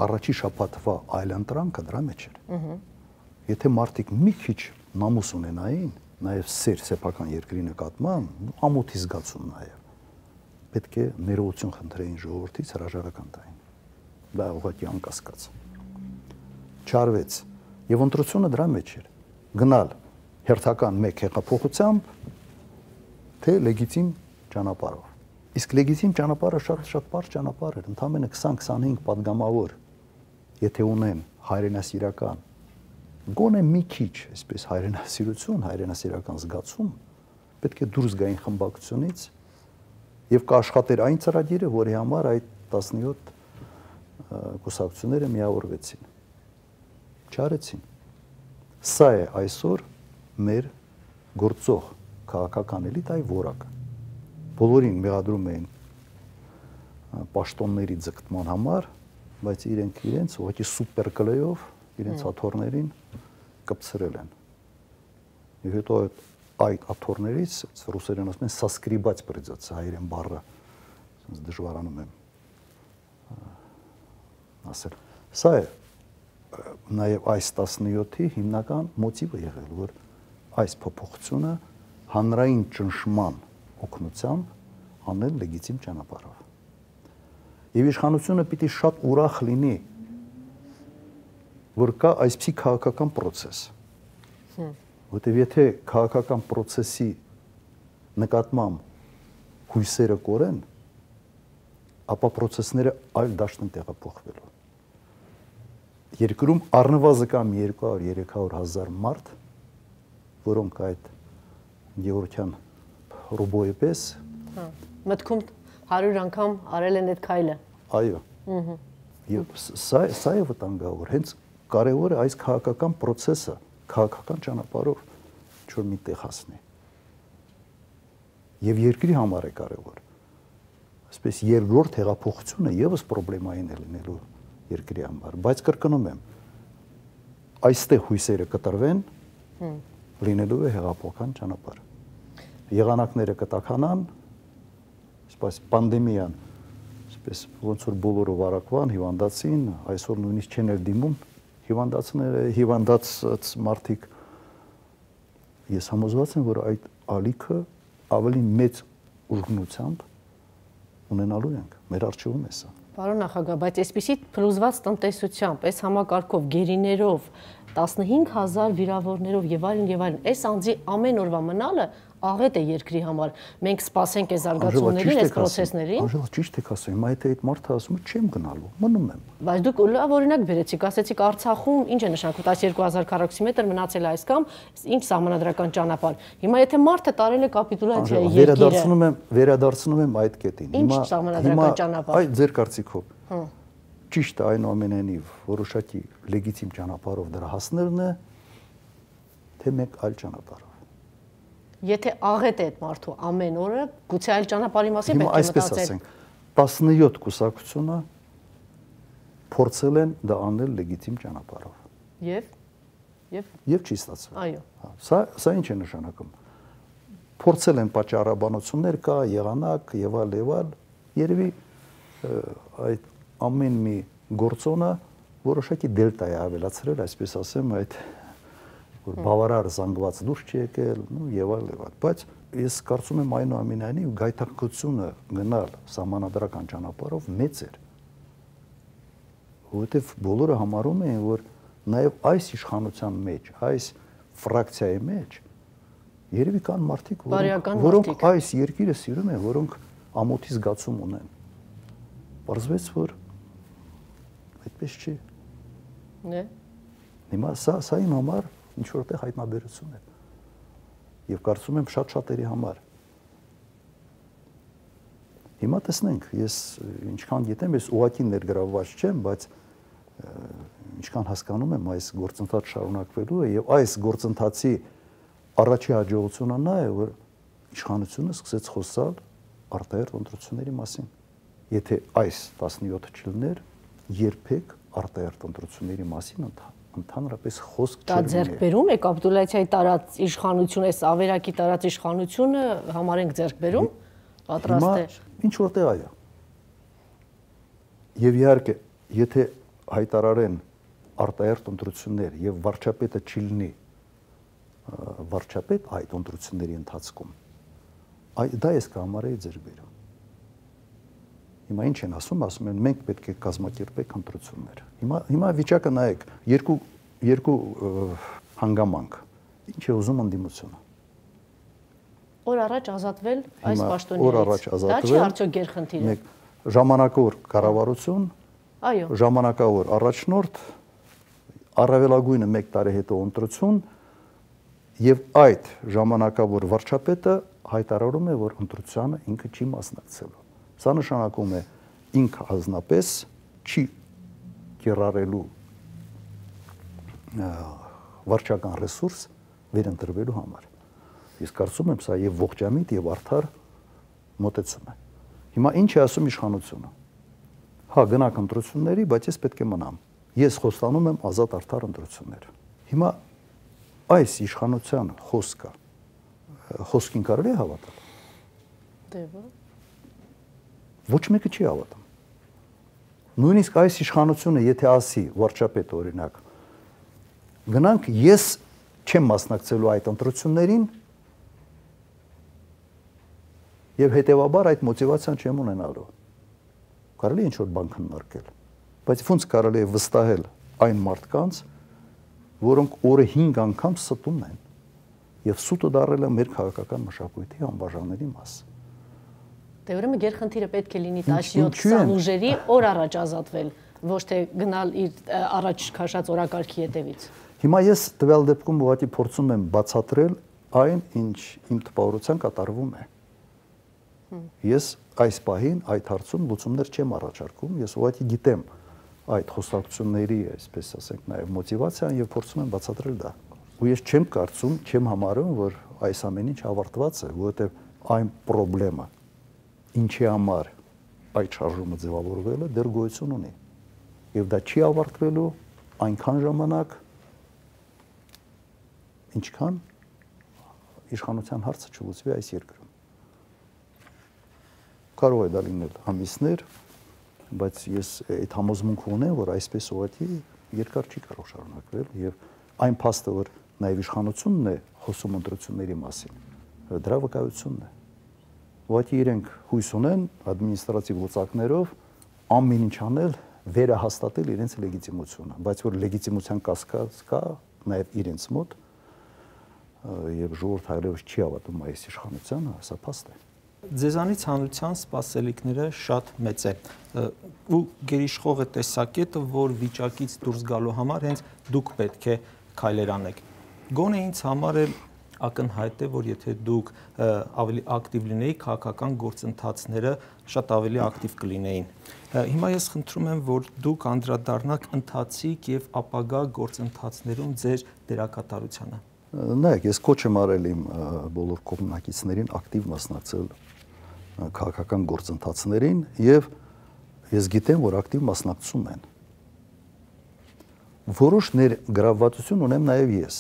Առաջի շաբաթվա այլընտրանքը դրա մեջ էր։ Եթե մարդիկ մի քիչ նամուս ունենային, նաև սեփական երկրի նկատմամբ, ամոթի զգացում նաև, պետք է ներողություն խնդրեին ժողովրդից, հրաժարական տային։ Դա ուղղակի անկասկած։ Չարվեց։ Եվ ընտրությունը դրա մեջ էր։ Գնալ հերթական մեկ հեղափոխությամբ, թե լեգիտիմ ճանապարհով։ Իսկ լեգիտիմ ճանապարհը շատ բարձր ճանապարհ էր, ընդամենը 20-25 падգամավոր, եթե ունեն հայրենասիրական, գոնե մի քիչ, այսպես հայրենասիրություն, հայրենասիրական զգացում, պետք է դուրս գային խմբակցությունից եւ կաշխատեր այն ծրագիրը, որի համար այդ 17 կուսակցությունները միավորվեցին։ Չարեցին։ Սա է այսօր մեր գործող քաղաքական էլիտայի որակը։ Բոլորին մեղադրում էին պաշտոնների ձգտման համար, բայց իրենց ուղղակի սուպեր կլեյով իրենց աթոռներին կպցրել են։ Եվ հետո այդ աթոռներից ռուսերեն ասում են սասկրիբած придется, հայերեն բառը դժվարանում եմ ասել։ Սա է նաև այս 17-ի հիմնական մոտիվը եղել, որ այս փոփոխությունը հանրային ճնշման օգնությամբ անել լեգիտիմ ճանապարհով։ Եվ իշխանությունը պիտի շատ ուրախ լինի, որ կա այսպիսի քաղաքական process։ Որտեւ եթե քաղաքական process-ի նկատմամբ հույսերը կորեն, ապա process-ները այլ դաշտ են տեղափոխվելու։ Երկրում առնվազն կամ 200-300 հազար մարդ, որոնք այդ Գևորգյան ռոբոյի պես մտքում 100 անգամ արել են այդ քայլը։ Այո։ Եվ սա է վտանգավոր, հենց կարևոր է այս քաղաքական process-ը քաղաքական ճանապարհով ինչ-որ միտեղ հասնի։ Եվ երկրի համար է կարևոր։ Այսպես երկրորդ հեղափոխությունը եւս պրոբլեմային է լինելու երկրի համար, բայց կրկնում եմ, այստեղ հույսերը կտրվեն, լինելու է հեղափոխական ճանապարհ։ Եղանակները կտաքանան, այսպես պանդեմիան, այսպես ոնց որ բոլորը վարակվան, հիվանդացին, այսօր նույնիսկ չեն դիմում հիվանդացած մարդիկ։ Ես համոզված եմ, որ այդ ալիքը ավելի մեծ ուժգնությամբ ունենալու ենք, մեր առջևում է սա։ Պարոն նախագահ, բայց այսպիսի փլուզված տնտեսությամբ, այս համակարգով, գերիներով, 15000 վիրավորներով եւ այլն, այս անձի ամեն օրվա մնալը աղետ է երկրի համար։ Մենք սպասենք այս զարգացումներին, այս process-ներին։ Անժելա, ճիշտ եք ասում, այդ մարդը ասում է չեմ գնալու, մնում եմ։ Բայց դուք լավ օրինակ բերեցիք, ասեցիք Արցախում ինչ է նշանակում 12000 քառակուսի մետր մնացել է այս կամ ինչ սահմանադրական ճանապարհ։ Հիմա եթե մարդը տարել է կապիտուլյացիա երկիրը, վերադարձնում եմ այդ կետին։ Ինչ սահմանադրական ճանապարհ։ Այդ ձեր կարծիքով։ Ճիշտ է այնուամենայնիվ որոշակի լեգիտիմ ճանապարհով դրա հասնելն է, թե մեկ այլ ճանապարհով։ Եթե աղետ է այդ մարդու ամեն օրը, գուցե այլ ճանապարհի մասին պետք է մտածել։ Այսպես ասենք, 17 կուսակցությունը փորձել են դա անել լեգիտիմ ճանապարհով։ Եվ չի ստացվել։ Այո։ Սա ինչ է նշանակում։ Փորձել են պատճառաբանություններ կա, եղանակ եւ այլ, երևի այդ ամեն մի գործոնը որոշակի դելտա է ավելացրել, այսպես ասեմ, այդ որ բավարար զանգված դուրս չի եկել, եւ այլ, բայց ես կարծում եմ այնուամենայնիվ գայթակղությունը գնալ սահմանադրական ճանապարհով մեծ էր, որովհետեւ բոլորը համարում էին, որ նաեւ այս իշխանության մեջ, այս ֆրակցիայի մեջ Երևի կան մարդիկ, Բարոյական որոնք մարդիկ։ այս երկիրը սիրում են, որոնք ամոթի զգացում ունեն։ Պարզվեց, որ այդպես չի։ Né? Հիմա սա իմ համար ինչ որտեղ հայտնաբերություն է։ Եվ կարծում եմ շատ-շատերի համար։ Հիմա տեսնենք, ես ինչքան գիտեմ, ես ուղղակի ներգրավված չեմ, բայց ինչքան հասկանում եմ, այս գործընթաց շարունակվելու է եւ այս գործընթացի առաջի հաջողությունը նա է, որ իշխանությունը սկսեց խոսալ արտահերթ ընտրությունների մասին։ Եթե այս 17 չլներ, երբեք արտահերթ ընտրությունների մասին ընդհանրապես խոսք Դա չէր ձեռքբերում է կապիտուլյացիայի տարած իշխանությունը, այս ավերակի տարած իշխանությունը համարենք ձեռքբերում, պատրաստ է։ Ինչ որտեղ այո։ Եվ իհարկե, եթե հայտարարեն արտահերթ ընտրություններ եւ վարչապետը չլինի վարչապետ այդ ընտրությունների ընթացքում, դա ես կհամարեի ձեռքբերում։ Հիմա ինչ են ասում են մենք պետք է կազմակերպենք ընտրություններ։ Հիմա վիճակը նայեք, երկու հանգամանք։ Ինչ է ուզում ընդդիմությունը։ Օր առաջ ազատվել այս պաշտոններից։ Օր առաջ ազատվել։ Դա չի արդյոք գերխնդիրը։ Մեկ ժամանակավոր կառավարություն, Այո։ ժամանակավոր առաջնորդ, առավելագույնը 1 տարի հետո ընտրություն եւ այդ ժամանակավոր վարչապետը հայտարարում է, որ ընտրությանը ինքը չի մասնակցելու։ Սա նշանակում է ինքը հանձնապես չի կիրառելու վարչական ռեսուրս վերընտրվելու համար։ Ես կարծում եմ, սա եւ ողջամիտ եւ արդար մոտեցում է։ Հիմա ինչ է ասում իշխանությունը։ Հա, գնանք ընտրությունների, բայց ես պետք է մնամ։ Ես խոստանում եմ ազատ արդար ընտրություններ։ Հիմա այս իշխանության խոսքին կարելի է հավատալ։ Դե ոչ։ Ոչ մեկը չի հավատում։ Նույնիսկ այս իշխանությունը, եթե ասի վարչապետը օրինակ, գնանք, ես չեմ մասնակցելու այդ ընտրություններին եւ հետեւաբար այդ մոտիվացիան չեմ ունենալու։ Կարելի է ինչ-որ բան քննարկել, բայց ոնց կարելի է վստահել այն մարդկանց, որոնք օրը 5 անգամ ստում են եւ սուտը դարել է մեր քաղաքական մշակույթի անբաժանելի մաս։ Դե ուրեմն գերխնդիրը պետք է լինի 17-20 ուժերի օր առաջ ազատվել, ոչ թե գնալ իր առաջ քաշած օրակարգի հետևից։ Հիմա ես տվյալ դեպքում ուղղակի փորձում եմ բացատրել այն, ինչ իմ տպավորության կատարվում է։ Ես այս պահին այդ հարցում լուծումներ չեմ առաջարկում, ես ուղղակի գիտեմ այդ խոսակցությունների, այսպես ասենք, նաև մոտիվացիան եւ փորձում եմ բացատրել դա։ Ու ես չեմ կարծում, չեմ համարում, որ այս ամեն ինչ ավարտված է, որովհետեւ այն խնդրեմը, ինչի համար այդ շարժումը ձևավորվել է, դեռ գոյություն ունի։ Եվ դա չի ավարտվելու այնքան ժամանակ, ինչքան իշխանության հարցը չլուծվի այս երկրում։ Կարող է դա լինել ամիսներ, բայց ես այդ համոզմունքը ունեմ, որ այսպես ուղղակի երկար չի կարող շարունակվել եւ այն փաստը, որ նաեւ իշխանությունն է խոսում ընտրությունների մասին, դրա վկայությունն է։ Ուղղակի իրենք հույս ունեն ադմինիստրատիվ լուծակներով ամեն ինչ անել, վերահաստատել իրենց լեգիտիմությունը, բայց որ լեգիտիմության կասկած կա նաեւ իրենց մոտ եւ ժողովուրդը այլևս չի հավատում այս իշխանությանը, սա փաստ է։ Ձեզանից հանրության սպասելիքները շատ մեծ է ու գերիշխող է տեսակետը, որ վիճակից դուրս գալու համար հենց դուք պետք է քայլեր անեք։ Գոնե ինձ համար էլ ակնհայտ է, որ եթե դուք ավելի ակտիվ լինեիք, քաղաքական գործընթացները շատ ավելի ակտիվ կլինեին։ Հիմա ես խնդրում եմ, որ դուք անդրադառնաք ընթացիկ եւ ապագա գործընթացներում ձեր դերակատարությանը։ Նայեք, ես կոչ եմ արել իմ բոլոր կողմնակիցներին ակտիվ մասնակցել քաղաքական գործընթացներին եւ ես գիտեմ, որ ակտիվ մասնակցում են։ Որոշ ներգրավվածություն ունեմ նաեւ ես,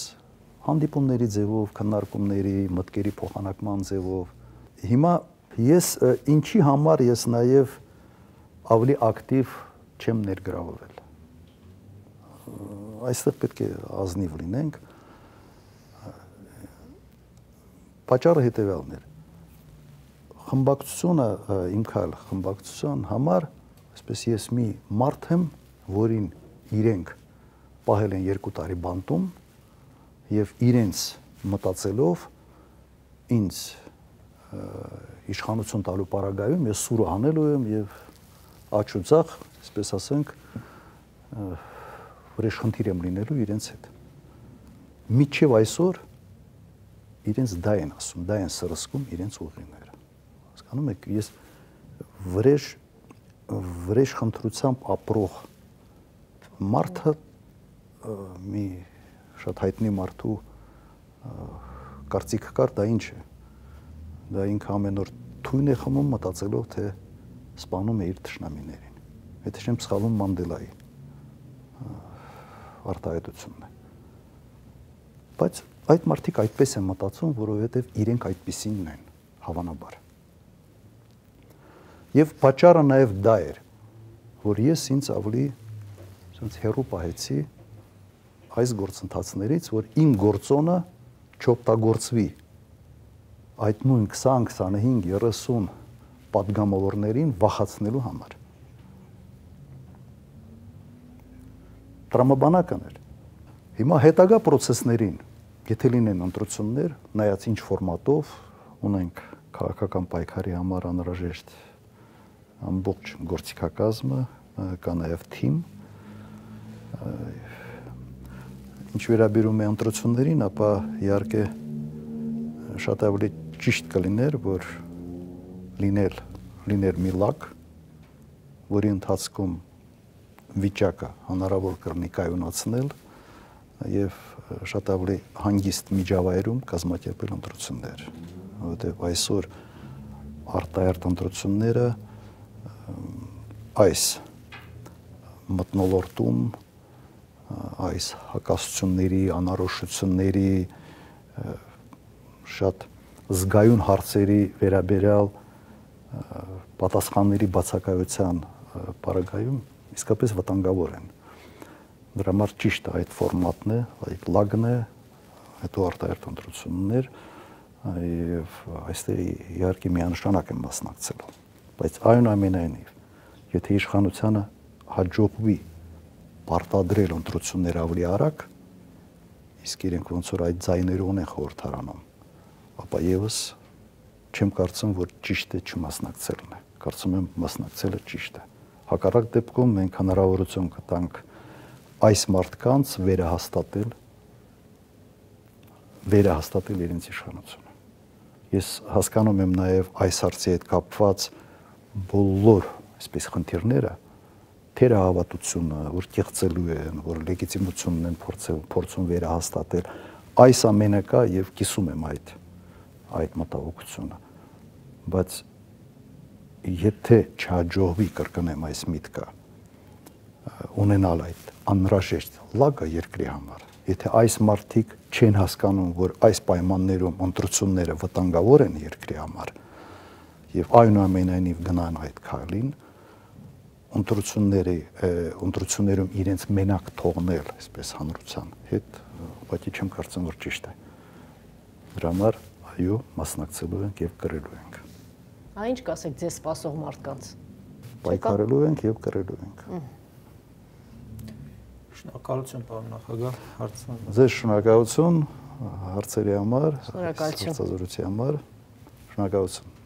հանդիպումների ձևով, քննարկումների, մտքերի փոխանակման ձևով։ Հիմա ես ինչի համար ես նաեւ ավելի ակտիվ չեմ ներգրավվել։ Այստեղ պետք է ազնիվ լինենք։ Պատճառը հետևյալն էր։ Խմբակցությունը իմ քայլ խմբակցության համար, այսպես ես մի մարդ եմ, որին իրենք պահել են 2 տարի բանտում եւ իրենց մտածելով ինձ իշխանություն տալու պարագայում ես սուրը անելու եմ եւ աչ ու ձախ, այսպես ասենք, վրեժխնդիր եմ լինելու իրենց հետ։ Մինչև այսօր իրենց դա են ասում, դա են սրսկում իրենց ուղիները։ Հասկանում եք, ես վրեժ խնդրությամբ ապրող մարդը մի շատ հայտնի մարդու կարծիքը կար, դա ինչ է։ Դա ինքը ամեն օր թույն է խմում մտածելով, թե սպանում է իր թշնամիներին։ Եթե չեմ սխալվում Մանդելայի արտահայտությունն է։ Բայց այդ մարդիկ այդպես են մտածում, որովհետև իրենք այդպիսինն են, հավանաբար։ Եվ պատճառը նաև դա էր, որ ես ինձ ավելի հեռու պահեցի այս գործընթացներից, որ իմ գործոնը չօգտագործվի այդ նույն 20, 25, 30 պատգամավորներին վախացնելու համար։ Տրամաբանական էր։ Հիմա հետագա process-ներին, եթե լինեն ընտրություններ, նայած ինչ ֆորմատով ունենք քաղաքական պայքարի համար անհրաժեշտ ամբողջ գործիքակազմը, կա նաև թիմ։ Ինչ վերաբերում է ընտրություններին, ապա իհարկե շատ ավելի ճիշտ կլիներ, որ լիներ մի լակ, որի ընթացքում վիճակը հնարավոր կլինի կայունացնել եւ շատ ավելի հանգիստ միջավայրում կազմակերպել ընտրություններ, որովհետեւ այսօր արտահերտ ընտրությունները այս մթնոլորտում այս հակասությունների, անորոշությունների շատ զգայուն հարցերի վերաբերյալ պատասխանների բացակայության պարագայում իսկապես վտանգավոր են։ Դրա համար ճիշտ այդ ֆորմատն է, այդ լագն է, հետո արտահերտ ընտրություններ եւ այստեղ իհարկե միանշանակ եմ մասնակցելու։ Բայց այնուամենայնիվ, եթե իշխանությանը հաջողվի պարտադրել ընտրություններ ավելի արագ, իսկ իրենք ոնց որ այդ ձայներով են խորհրդարանում, ապա եւս չեմ կարծում, որ ճիշտ է չմասնակցելն է։ Կարծում եմ մասնակցելը ճիշտ է։ Հակառակ դեպքում մենք հնարավորություն կտանք այս մարդկանց վերահաստատել իրենց իշխանությունը։ Ես հասկանում եմ նաև այս հարցի հետ կապված բոլոր այսպես խնդիրները, թերահավատությունը, որ կեղծելու են, որ լեգիտիմությունն են փորձում վերահաստատել, այս ամենը կա եւ կիսում եմ այդ մտահոգությունը։ Բայց եթե չհաջողվի կրկնեմ այս միտքը ունենալ այդ անհրաժեշտ լագը երկրի համար, եթե այս մարդիկ չեն հասկանում, որ այս պայմաններում ընտրությունները վտանգավոր են երկրի համար եւ այնուամենայնիվ գնան այդ քայլին, ընտրություններում իրենց մենակ թողնել, այսպես հանրության հետ, ուղղակի չեմ կարծում, որ ճիշտ է։ Դրա համար այո, մասնակցելու ենք եւ կրելու ենք։ Ինչ կասեք ձեզ սպասող մարդկանց։ Պայքարելու ենք եւ կրելու ենք։ Շնորհակալություն, պարոն նախագահ, հարցն։ Ձեզ շնորհակալություն հարցերի համար, շնորհակալություն։ հարցազրույցի համար։ Շնորհակալություն։